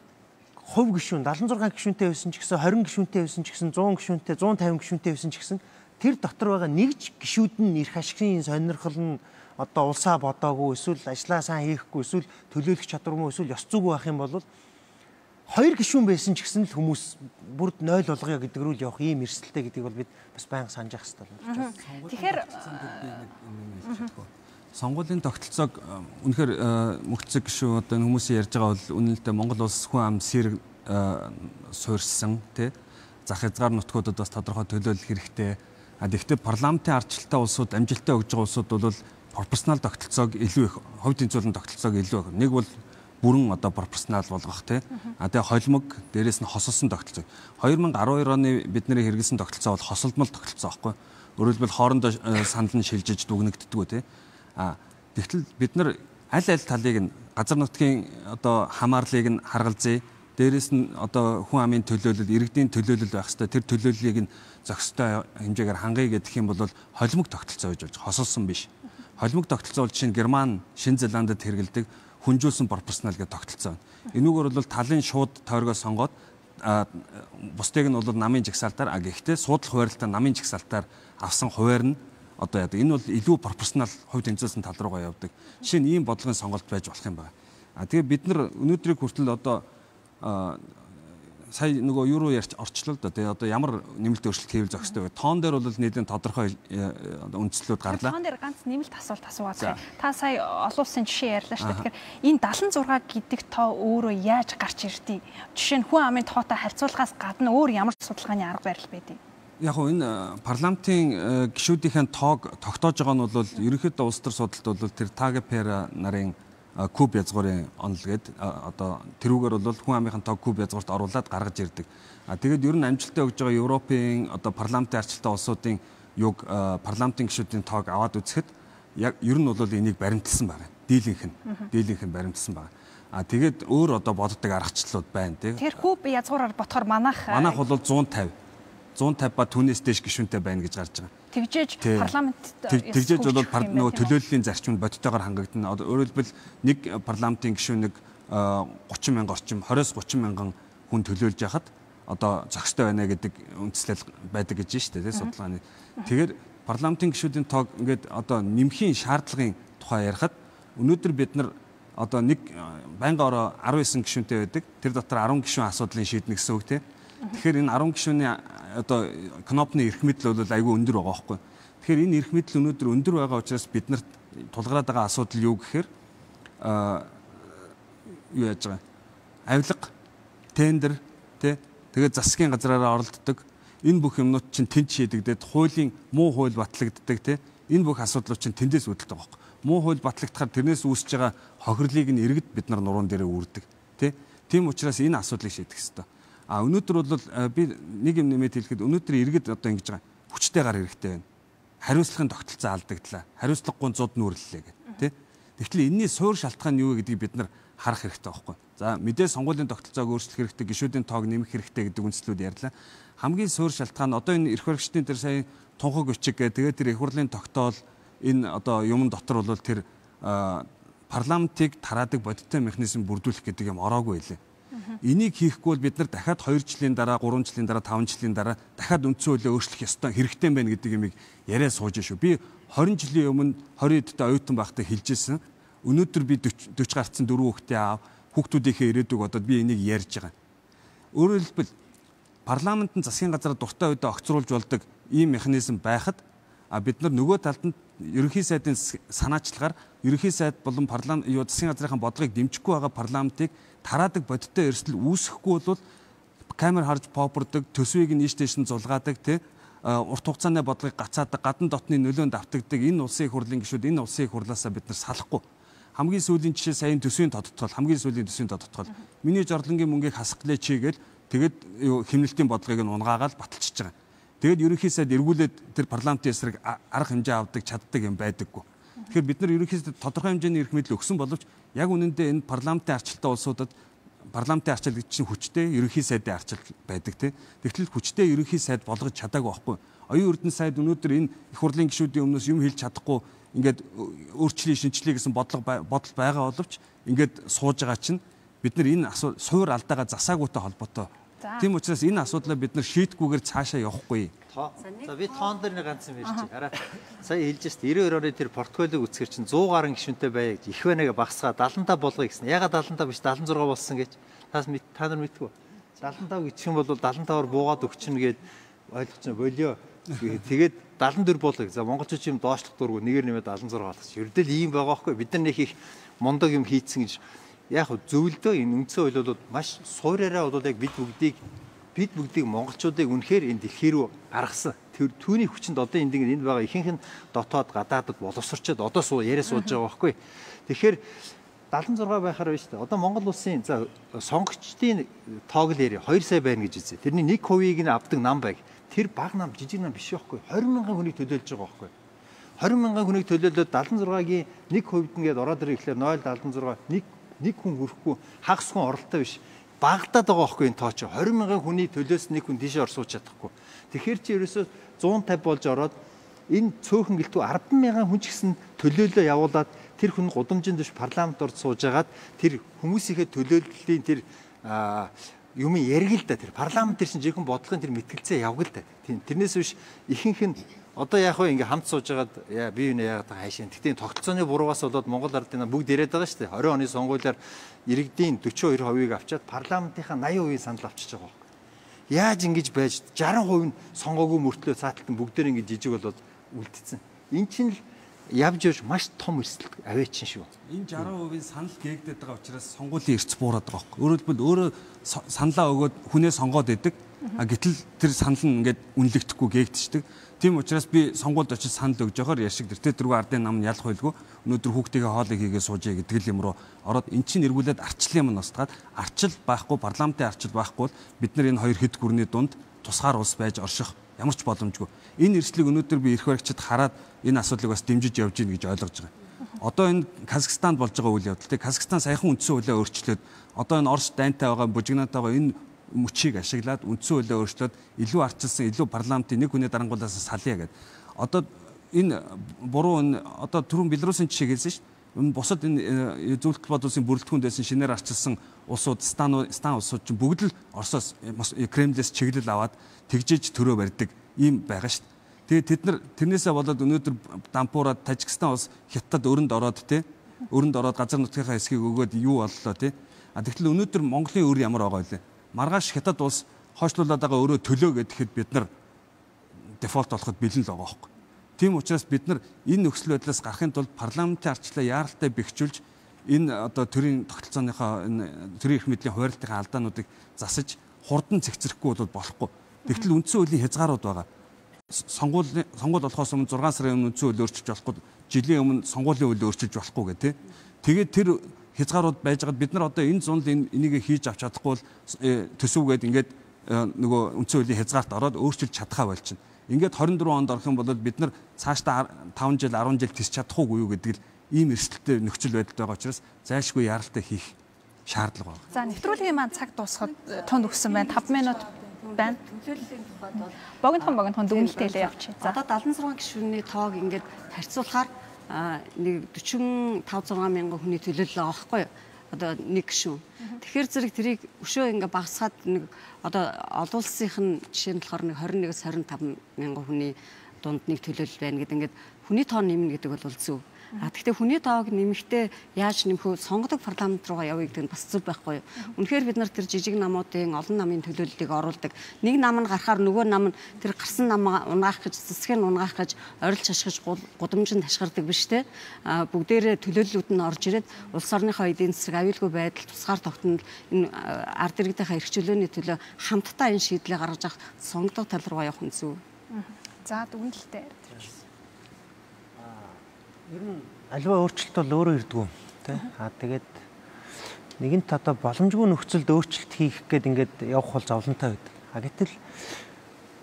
хувь гишүүн 76 гишүүнтэй байсан ч гэсэн 20 гишүүнтэй байсан ч гэсэн 100 гишүүнтэй 150 гишүүнтэй байсан ч гэсэн тэр дотор байгаа нэгж гишүүд нь эрх ашигын сонирхол нь одоо улсаа бодоогүй эсвэл ажлаа сайн хийхгүй эсвэл төлөөлөх чадваргүй эсвэл ёс зүйгүй байх юм бол 2 гишүүн байсан ч гэсэн л хүмүүс бүрд 0 болгоё гэдэг рүү л явах ийм эрсдэлтэй гэдгийг бол бид бас байнга санаж явах хэрэгтэй болж байна. Тэгэхээр сонгуулийн тогтолцоог үнэхээр мөхцөг гишүүн одоо хүмүүсийн ярьж байгаа бол үнэлдэ Монгол улс хүн ам сэрэг суурьсан тий зах хязгаар нутгуудад бас тодорхой төлөөлөх хэрэгтэй. Гэхдээ парламентын ардчилтай улсууд амжилтаа өгж байгаа улсууд бол пропорционал тогтолцоог илүү их хувь тэнцвэрлэн тогтолцоог илүү их. Нэг бол бүрэн одоо пропорционал болгох тий. Тэгээ холимог дээрээс нь хосолсон тогтолцоо. 2012 оны бидний хэрэгэлсэн тогтолцоо бол хосолдмол тогтолцоо байхгүй. Өөрөөр хэлбэл хоорондоо санал нь шилжиж дүгнэгддэггүй тий. Тэгтэл бид нар аль талыг нь газар нутгийн одоо хамаарлыг нь харгалзъя. Дээрээс нь одоо хүн амын төлөөлөл, иргэдийн төлөөлөл байх хэвээр тэр төлөөллийг нь зохистой хэмжээгээр хангая гэдэг юм бол холимог тогтолцоо гэж болж хосолсон биш. Холимог тогтолцоо бол жишээ нь Герман, Шинэ Зеландад хэрэгэлдэг хүнжүүлсэн пропорционал гэдэг тогтолцоо. Энүүгээр бол талын шууд тойргоо сонгоод бусдыг нь бол намын жагсаалтаар гэхдээ суудлах хуваарлалтаа намын жагсаалтаар авсан хуваар нь одоо яадаг. Энэ бол илүү пропорционал хувь тэнцвэрсэн тал руугаа явдаг. Жишээ нь ийм бодлогын сонголт байж болох юм байна. Тэгээ бид нар өнөөдрийг хүртэл одоо сая нөгөө юу руу ярьж орчлоо л да. Тэгээ одоо ямар нэмэлт өөрчлөлт хийвэл зохистой вэ? Тоон дээр бол нийлэн тодорхой үндслүүд гарлаа. Тоон дээр ганц нэмэлт асуулт асуугаад. Та сая олон улсын жишээ ярьлаа шүү дээ. Тэгэхээр энэ 76 гэдэг тоо өөрөө яаж гарч ирдээ? Жишээ нь хүн амын тоотой харьцуулахаас гадна өөр ямар судалгааны арга барил байдгийг? Яг нь энэ парламентын гишүүдийн тоог тогтоож байгаа нь бол ерөнхийдөө улс төр судалт бол тэр Тагепера нарын куб язгуурын онол гээд одоо тэрүүгээр бол хүн амынхын тоог куб язгуурт оруулаад гаргаж ирдэг. Тэгээд ер нь амжилтаа өгж байгаа Европын одоо парламентын арчилтай улсуудын юг парламентын гишүүдийн тоог аваад үзэхэд яг ер нь бол энийг баримталсан байна. Дийлийнх нь баримталсан байна. Тэгээд өөр одоо боддог аргачлалууд байна тий. Тэр куб язгуураар ботхоор манайх бол 150 ба түүнээс дээш гишүүнтэй байна гэж гарч байгаа. Тэгжээж парламентт тэгжээж бол нөгөө төлөөллийн зарчимд бодитойгоор хангагдана. Өөрөөр хэлбэл нэг парламентын гишүүнийг 30 мянган орчим 20-30 мянган хүн төлөөлж яхад одоо зохистой байна гэдэг үндслэл байдаг гэж байна шүү дээ судалгааны. Тэгэхээр парламентын гишүүдийн тоог ингээд одоо нэмхийн шаардлагын тухай ярихад өнөөдөр бид нар одоо нэг байнга ороо 19 гишүүнтэй байдаг. Тэр дотор 10 гишүүн асуудлыг шийднэ гэсэн үг тийм. Тэгэхээр энэ 10 гишүүний одоо кнопны эрх мэдэл бол айгүй өндөр байгаа байхгүй. Тэгэхээр энэ эрх мэдэл өнөөдөр өндөр байгаа учраас бид нарт тулгараад байгаа асуудал юу гэхээр юу яаж байгаа? Авилга, тендер, тэгээд засгийн газраараа оролддог. Энэ бүх юмнууд чинь тэнд шийдэгдээд хуулийн муу хууль батлагддаг тийм. Энэ бүх асуудлууд чинь тэндээс үүдэлтэй байгаа байхгүй. Муу хууль батлагдахаар тэрнээс үүсэж байгаа хохирлыг нь иргэд бид нар нуруунд дээрээ үүрдэг тийм учраас энэ асуудлыг шийдэх хэрэгтэй. Өнөөдөр бол би нэг юм нэмээд хэлэхэд өнөөдөр иргэд одоо ингэж байгаа хүчтэйгээр хэрэгтэй байна. Хариуцлагын тогтолцоо алдагдлаа. Хариуцлагагүй зуд нүүрлэлээ гэх тэгэхээр энэний суур шалтгаан юу вэ гэдгийг бид нар харах хэрэгтэй байхгүй. За мэдээ сонгуулийн тогтолцоог өөрчлөх хэрэгтэй, гишүүдийн тоог нэмэх хэрэгтэй гэдэг үндслүүд ярьлаа. Хамгийн суур шалтгаан одоо энэ эрх баригчдын тэр сая тунхаг өчиг тэгээд тэр их хурлын тогтоол энэ одоо юм дотор бол тэр парламентыг тараадаг бодиттой механизм бүрдүүлэх гэдэг юм ороогүй байлээ. Энийг хийхгүй бол бид нар дахиад 2 жилийн дараа, 3 жилийн дараа, 5 жилийн дараа дахиад үндсэн хуулийг өөрчлөх ёстой хэрэгтэй байна гэдэг юмыг яриа сууж шүү. Би 20 жилийн өмнө 20 эдтэй оюутан байхдаа хэлжсэн. Өнөөдөр би 40 гарцсан 4 хүүхдээ аав, хүүхдүүдийнхээ ирээдүг бодоод би энийг ярьж байгаа. Өөрөөр хэлбэл парламент нь засгийн газар дуртай үедээ огцруулж болдог ийм механизм байхад бид нар нөгөө талд нь ерөнхий сайдын санаачлагаар ерөнхий сайд болон парламент засгийн газрын бодлогыг дэмжихгүй байгаа парламентыг тараадаг бодиттой эрсдэл үүсэхгүй бол камер харж попордог, төсвийг нь ийш тийш нь зулгаадаг урт хугацааны бодлогыг гацаадаг, гадна дотны нөлөөнд автагддаг энэ улсын их хурлын гишүүд энэ улсын их хурлаасаа бид нар салахгүй. Хамгийн сүүлийн жишээ саяын төсвийн тодтгол, хамгийн сүүлийн төсвийн тодтгол. Миний жорлонгийн мөнгийг хасах гэлээ чигээл тэгээд хэмнэлтийн бодлогыг нь унгаагаад баталчихж байгаа. Тэгээд ерөнхий сайд эргүүлээд тэр парламентын эсрэг арга хэмжээ авдаг, чаддаг юм байдаггүй. Тэгэхээр бид нар ерөнхий сайд тодорхой хэмжээний эрх мэдэл өгсөн боловч яг үнэндээ энэ парламентын арчилтай улсуудад парламентын арчил гэж чинь хүчтэй ерөнхий сайдын арчил байдаг тийм. Тэгтэл хүчтэй ерөнхий сайд болгож чадаагүй байхгүй. Оюун эрдэнэ сайд өнөөдөр энэ их хурлын гишүүдийн өмнөөс юм хэлж чадахгүй ингээд өөрчлөе шинжлэе гэсэн бодол байгаа боловч ингээд сууж байгаа чинь бид нар энэ суур алдаагаа засаагүйтэй холбоотой. Тийм учраас энэ асуудлаа бид нар шийдгүүгээр цаашаа явахгүй. За би тоон дээр нэг ганц юм ярьчих. Хараа сая хэлж шít 92 оны тэр портфолийг үзэхэр чинь 100 гаруй гишүүнтэй бай гэж их бэнэгээ багсгаа 75 болгоё гэсэн. Ягаад 75 биш 76 болсон гэж та нар мэдтгүү. 75 гिचх юм бол 75-аар буугаад өгчнө гэд ойлгочихно болио. Тэгээд 74 болгоё. За монголчууд юм доошлох дургу нэгээр нэмээд 76 болгочих. Ердөө ийм байгаа байхгүй. Бид нар нэг их мундаг юм хийцэн гэж яг зөвлөдөө энэ үндсэн хуулиудад маш суураараа бол яг бид бүгдийг монголчуудыг үнэхээр энэ дэлхий рүү гаргасан. Түүний хүчинд одоо энд байгаа ихэнх нь дотоод гадаадд боловсрчод одоо яриа сууж байгаа байхгүй. Тэгэхээр 76 байхаар байна шүү дээ. Одоо Монгол улсын за сонгогчдын тоог л яри 2 сая байна гэж үзье. Тэрний 1%-ийг нь авдаг нам байг. Тэр баг нам жижиг нам биш байхгүй. 20 мянган хүнийг төлөөлж байгаа байхгүй. 20 мянган хүнийг төлөөлөөд 76-гийн 1% нэгээд ороод ирэхлээр 0.76 нэг хүн хүрэхгүй хагас хүн оролттой биш. Багтаад байгаа байхгүй энэ тоо чи 20 мянган хүний төлөөс нэг хүн тийшээ орсууж чадахгүй. Тэгэхээр чи ерөөсөө 150 болж ороод энэ цөөхөн гэлтүү 10 мянган хүн ч гэсэн төлөөлөө явуулаад тэр хүн гудамжинд биш парламент орд сууж агаад тэр хүмүүсийнхээ төлөөллийн тэр юм яриг л да тэр парламент тэр чинь жинхэнэ бодлогын тэр мэтгэлцээ явгал да. Тэрнээс биш ихэнх нь одоо яг хөө ингээ хамт сууж агаад бие биенээ яагаад хайшин. Тэгтээ тогтолцооны буруугаас болоод Монгол ардын бүгд яриад байгаа шүү дээ. 20 оны сонгуулиар иргэдийн 42%-ийг авчаад парламентынхаа 80% санал авчиж байгаа. Яаж ингэж байж 60% нь сонгоогүй мөртлөө цааталтан бүгдээр ингэ жижиг болоод үлдсэн. Эн чинь л явж явж маш том эрсдэл аваачин шүү. Энэ 60%-ийн санал гээгдээд байгаа учраас сонгуулийн эрс буураад байгаа байхгүй. Өөрөөр хэлбэл өөрөө саналаа өгөөд хүнээ сонгоод идэг. Гэтэл тэр санал нь ингээд үнэлэгдэхгүй гээгдчихдэг. Тийм учраас би сонгуульд очиж санал өгж явахаар яшиг тэр дөрвөн ардын нам нь ялах байлгүй. Өнөөдөр хүүхдийн хоолыг хийгээ суужээ гэдэг юм руу ороод эн чинь эргүүлээд арчлын юм устгаад арчил байхгүй парламентын арчил байхгүй бол бид нар энэ хоёр хэд гүрний дунд тусгаар улс байж орших ямар ч боломжгүй. Энэ эрсдлийг өнөөдөр би эрх баригчид хараад энэ асуудлыг бас дэмжиж явж гин гэж ойлгож байгаа. Одоо энэ Казахстанд болж байгаа үйл явдал. Казахстан саяхан үндсэн хуулиа өөрчлөөд одоо энэ Орос дайнтай байгаа бужигнаатай байгаа энэ мөчийг ашиглаад үндсэн хуулиа өөрчлөөд илүү арчилсан, илүү парламентын нэг хүний дарангуулаас салъя гэдэг. Одоо энэ буруу одоо түрүүн Белорусын жишээ хэлсэн шүү дээ. Бусад энэ зөвлөлт бод улсын бүрэлдэхүүнд байсан шинээр арчилсан улсууд, стан улсууд чинь бүгд л Оросоос Кремлээс чиглэл аваад тэгжиж төрөө барьдаг ийм байгаа шүү дээ. Тэгээд тэд нар тэрнээсээ болоод өнөөдөр дампуураад Тажикстан улс Хятад өрөнд ороод Өрөнд ороод газар нутгийнхаа хэсгийг өгөөд юу боллоо тий. Тэгтэл өнөөдөр Монголын өр ямар байгаа вэ? Маргааш Хятад улс хойшлуулад байгаа өөрөө төлөө гэхэд бид нар дефолт болоход бэлэн л байгаа байхгүй. Тийм учраас бид нар энэ нөхцөл байдлаас гарахын тулд парламентын ардчлалаа яаралтай бэхжүүлж энэ одоо төрийн тогтолцооныхоо энэ төрийн эрх мэдлийн хуваарлтын алдаануудыг засаж хурдан цэгцэрэхгүй бол болохгүй. Тэгтэл үндсэн хуулийн хязгаарууд байгаа. Сонгуул болохоос өмнө 6 сарын өмнө үндсэн хуулийг өөрчилж болохгүй, жилийн өмнө сонгуулийн хуулийг өөрчилж болохгүй гэх тээ. Тэгээд тэр хязгаарууд байж байгаад бид нар одоо энэ зунд энийг хийж авч чадахгүй бол төсөвгээд ингээд нөгөө үндсэн хуулийн хязгаарт ороод өөрчилж чадхаа болчихно. Ингээд 24 онд орох юм бол бид нар цаашдаа 5 жил 10 жил тис чадахгүй юу гэдэг л ийм эрсдэлтэй нөхцөл байдалд байгаа учраас зайлшгүй яаралтай хийх шаардлага байна. За нэвтрүүлгийн маань цаг дуусахад тунд өгсөн байна. 5 минут байна. Төлөөллийн тухайд бол богинохон дүгнэлтээ хэлээ явчих. За одоо 76 гишүүний тоог ингээд харьцуулахаар нэг 45-6 мянган хүний төлөөлөл байгаа байхгүй юу? Одоо нэг гишүүн. Тэгэхээр зэрэг тэрийг өшөө ингээ багасгаад нэг одоо олон улсынх нь жишээ нь болохоор нэг 21-с 25 мянган хүний дунд нэг төлөөлөл байна гэдэг ингээд хүний тоо нэмнэ гэдэг бол зөв. Гэхдээ хүний тоог нэмэхдээ яаж нэмэх вэ? Сонгодог парламент руугаа явъя гэдэг нь бас зөв байхгүй юу? Үнэхээр бид нар тэр жижиг намуудын олон намын төлөөллийг оруулдаг. Нэг нам нь гарахаар нөгөө нам нь тэр гарсан намаа унгаах гэж, засгийг нь унгаах гэж орилж ашигч гудамжинд ташгирдаг биш те. Бүгдээрээ төлөөллүүд нь орж ирээд улс орныхоо эдийн засаг аюулгүй байдал, тусгаар тогтнол энэ ард иргэдийнхээ эрх чөлөөний төлөө хамтдаа энэ шийдлийг гаргаж авах сонгодог тал руугаа явах нь зөв. За дүгнэлтээ. Ер нь аливаа өөрчлөлт бол өөрөө ирдгүү тий. Тэгээд нэгэнт одоо боломжгүй нөхцөлд өөрчлөлт хийх гээд ингээд явах бол зовлонтой байдаг. Гэтэл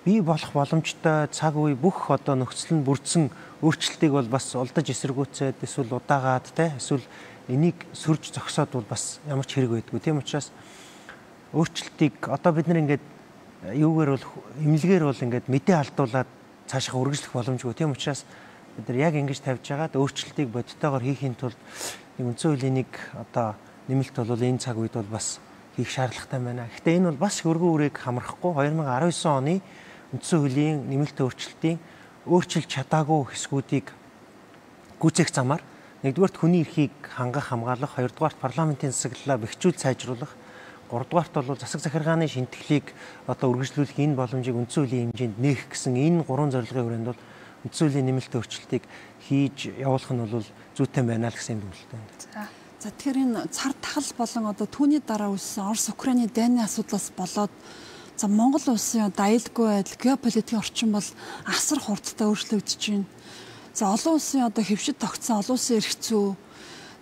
бий болох боломжтой цаг үе бүх одоо нөхцөл нь бүрдсэн өөрчлөлтийг бол бас улдаж эсэргүүцээд эсвэл удаагаад тий эсвэл энийг сөрж зогсоод бол бас ямар ч хэрэг байдгүй. Тийм учраас өөрчлөлтийг одоо бид нар ингээд юугаар бол эмнэлгээр бол ингээд мэдээ алдуулаад цаашаа үргэлжлэх боломжгүй. Тийм учраас бид нар яг ингэж тавьж байгаад өөрчлөлтийг бодитойгоор хийхин тулд нэг үндсэн хуулийн нэг одоо нэмэлт бол энэ цаг үед бол бас хийх шаардлагатай байна. Гэхдээ энэ бол бас өргөн үрийг хамрахгүй 2019 оны үндсэн хуулийн нэмэлт өөрчлөлтийн өөрчилж чадаагүй хэсгүүдийг гүйцээх замаар нэгдүгээрт хүний эрхийг хангах хамгаалах, хоёрдугаарт парламентын засаглалаа бэхжүүл сайжруулах, гуравдугаарт бол засаг захиргааны шинтгэлийг одоо үргэлжлүүлэх энэ боломжийг үндсэн хуулийн хэмжээнд нээх гэсэн энэ гурван зорилгын хүрээнд бол үндсэн хуулийн нэмэлт өөрчлөлтийг хийж явуулах нь бол зүйтэй байна л гэсэн дүгнэлттэй байна. За тэгэхээр энэ цар тахал болон одоо түүний дараа үүссэн Орос Украины дайны асуудлаас болоод за Монгол улсын одоо аюулгүй байдал, геополитикийн орчин бол асар хурдтай өөрчлөгдөж байна. За олон улсын одоо хэвшид тогтсон олон улсын эрх зүй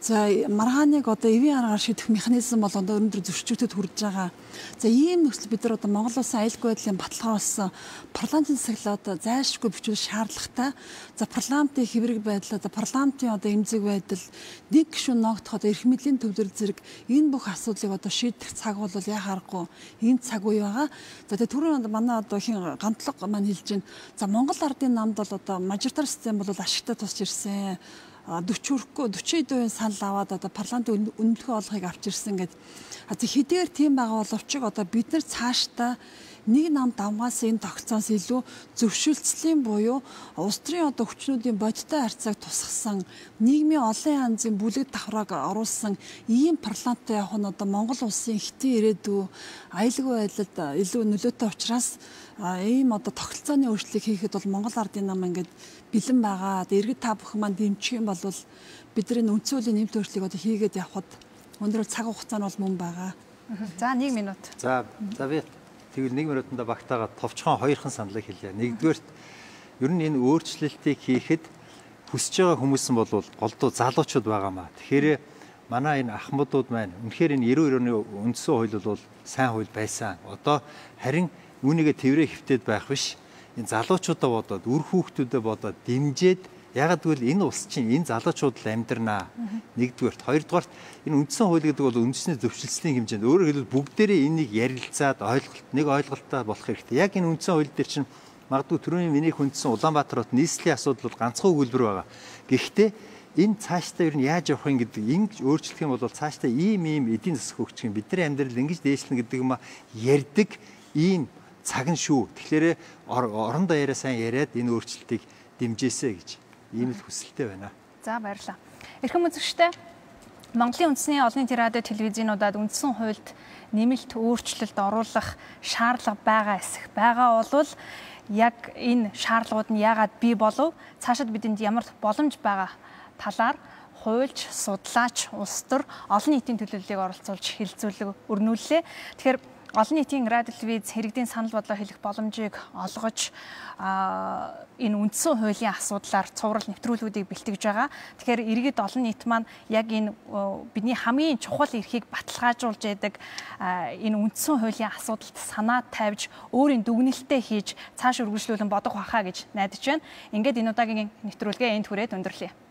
за маргааныг одоо эвийн аргаар шийдэх механизм бол одоо өнөөдөр зөрчигдөд хүрж байгаа. За ийм нөхцөл бид нар одоо Монгол улсын аюулгүй байдлын баталгаажуулсан парламентын засаглалаа одоо зайлшгүй бичвэл шаардлагатай. За парламентын хэврэг байдал одоо парламентын одоо эмзэг байдал нэг гишүүн ногдоход эрх мэдлийн төвлөр зэрэг энэ бүх асуудлыг одоо шийдэх цаг бол яа харахгүй энэ цаг үе байгаа. За тэгээ түрүүн манай одоо хин гантлаг маань хэлж байна. За Монгол ардын намд бол одоо мажоритар систем бол ашигтай тусч ирсэн. 40% санал аваад одоо парламентын үнэлгээ олохыг авч ирсэн гэдэг. Хэдийгээр тийм байгаа боловч одоо бид нар цаашдаа нэг нам давмгаас энэ тогтцоос илүү зөвшөлтслийн буюу улс төрийн одоо хүчнүүдийн бодиттой харьцааг тусгасан нийгмийн олон янзын бүлэг давхрааг оруулсан ийм парламенттай явах нь одоо Монгол улсын хэтийн ирээдүй аюулгүй байдалд илүү нөлөөтэй учраас ийм одоо тогтолцооны өөрчлөлийг хийхэд бол Монгол ардын нам ингээд бэлэн байгаа. Иргэд та бүхэн маань дэмжих юм бол бидний үндсэн хуулийн нэмэлт өөрчлөлийг одоо хийгээд явхад өнөөдөр цаг хугацаа нь бол мөн байгаа. За 1 минут. За би тэгвэл 1 минутанда багтаагаад товчхон хоёрхан саналыг хэлье. Нэгдүгээрт ер нь энэ өөрчлөлтийг хийхэд хүсэж байгаа хүмүүс нь бол голдуу залуучууд байгаамаа. Тэгэхээр манай энэ ахмадууд маань үнэхээр энэ 92 оны үндсэн хууль бол сайн хууль байсан. Одоо харин үүнийгээ тэрвэрээ хөвтөд байх биш. Энэ залуучуудаа бодоод, үр хүүхдүүдэд бодоод дэмжиж ягаад гэвэл энэ улс чинь энэ залуучууд л амьдрнаа. Нэгдүгээрт, хоёрдугаарт энэ үндсэн хууль гэдэг бол үндэсний зөвшөлтсөний хэмжээнд өөрөөр хэлбэл бүгдээрээ энийг ярилцаад нэг ойлголттой болох хэрэгтэй. Яг энэ үндсэн хууль дээр чинь магадгүй түрүүний миний хүндсэн Улаанбаатар хот нийслэлийн асуудал бол ганцхан өгүүлбэр байгаа. Гэхдээ энэ цаашдаа ер нь яаж явах юм гэдэг ингэ өөрчлөх юм бол цаашдаа ийм эдийн засаг хөгжих юм. Бидний амьдрал ингэж дээшлэнэ гэдэг юм ярьдаг ийм цаг нь шүү. Тэгэхээр орондоо яриа сайн яриад энэ өөрчлөлтийг дэмжээсэй гэж ийм л хүсэлтэй байна. За баярлалаа. Эрхэм үзэгчдээ Монголын үндэсний олон нийтийн радио телевизийнуудад үндсэн хуульд нэмэлт өөрчлөлт оруулах шаардлага байгаа эсэх байгаа бол яг энэ шаардлагууд нь яагаад бий болов? Цаашид бидэнд ямар боломж байгаа талаар хуульч, судлаач, улс төр олон нийтийн төлөөллийг оролцуулж хэлэлцүүлэг өрнүүллээ. Тэгэхээр олон нийтийн радио телевиз иргэдийн санал бодлоо хэлэх боломжийг олгож энэ үндсэн хуулийн асуудлаар цуврал нэвтрүүлгүүдийг бэлтгэж байгаа. Тэгэхээр иргэд олон нийт маань яг энэ бидний хамгийн чухал эрхийг баталгаажуулж яадаг энэ үндсэн хуулийн асуудалд санаа тавьж өөрийн дүгнэлтээ хийж цааш үргэлжлүүлэн бодох байхаа гэж найдаж байна. Ингээд энэ удаагийн нэвтрүүлгээ энд хүрээд өндөрлөе.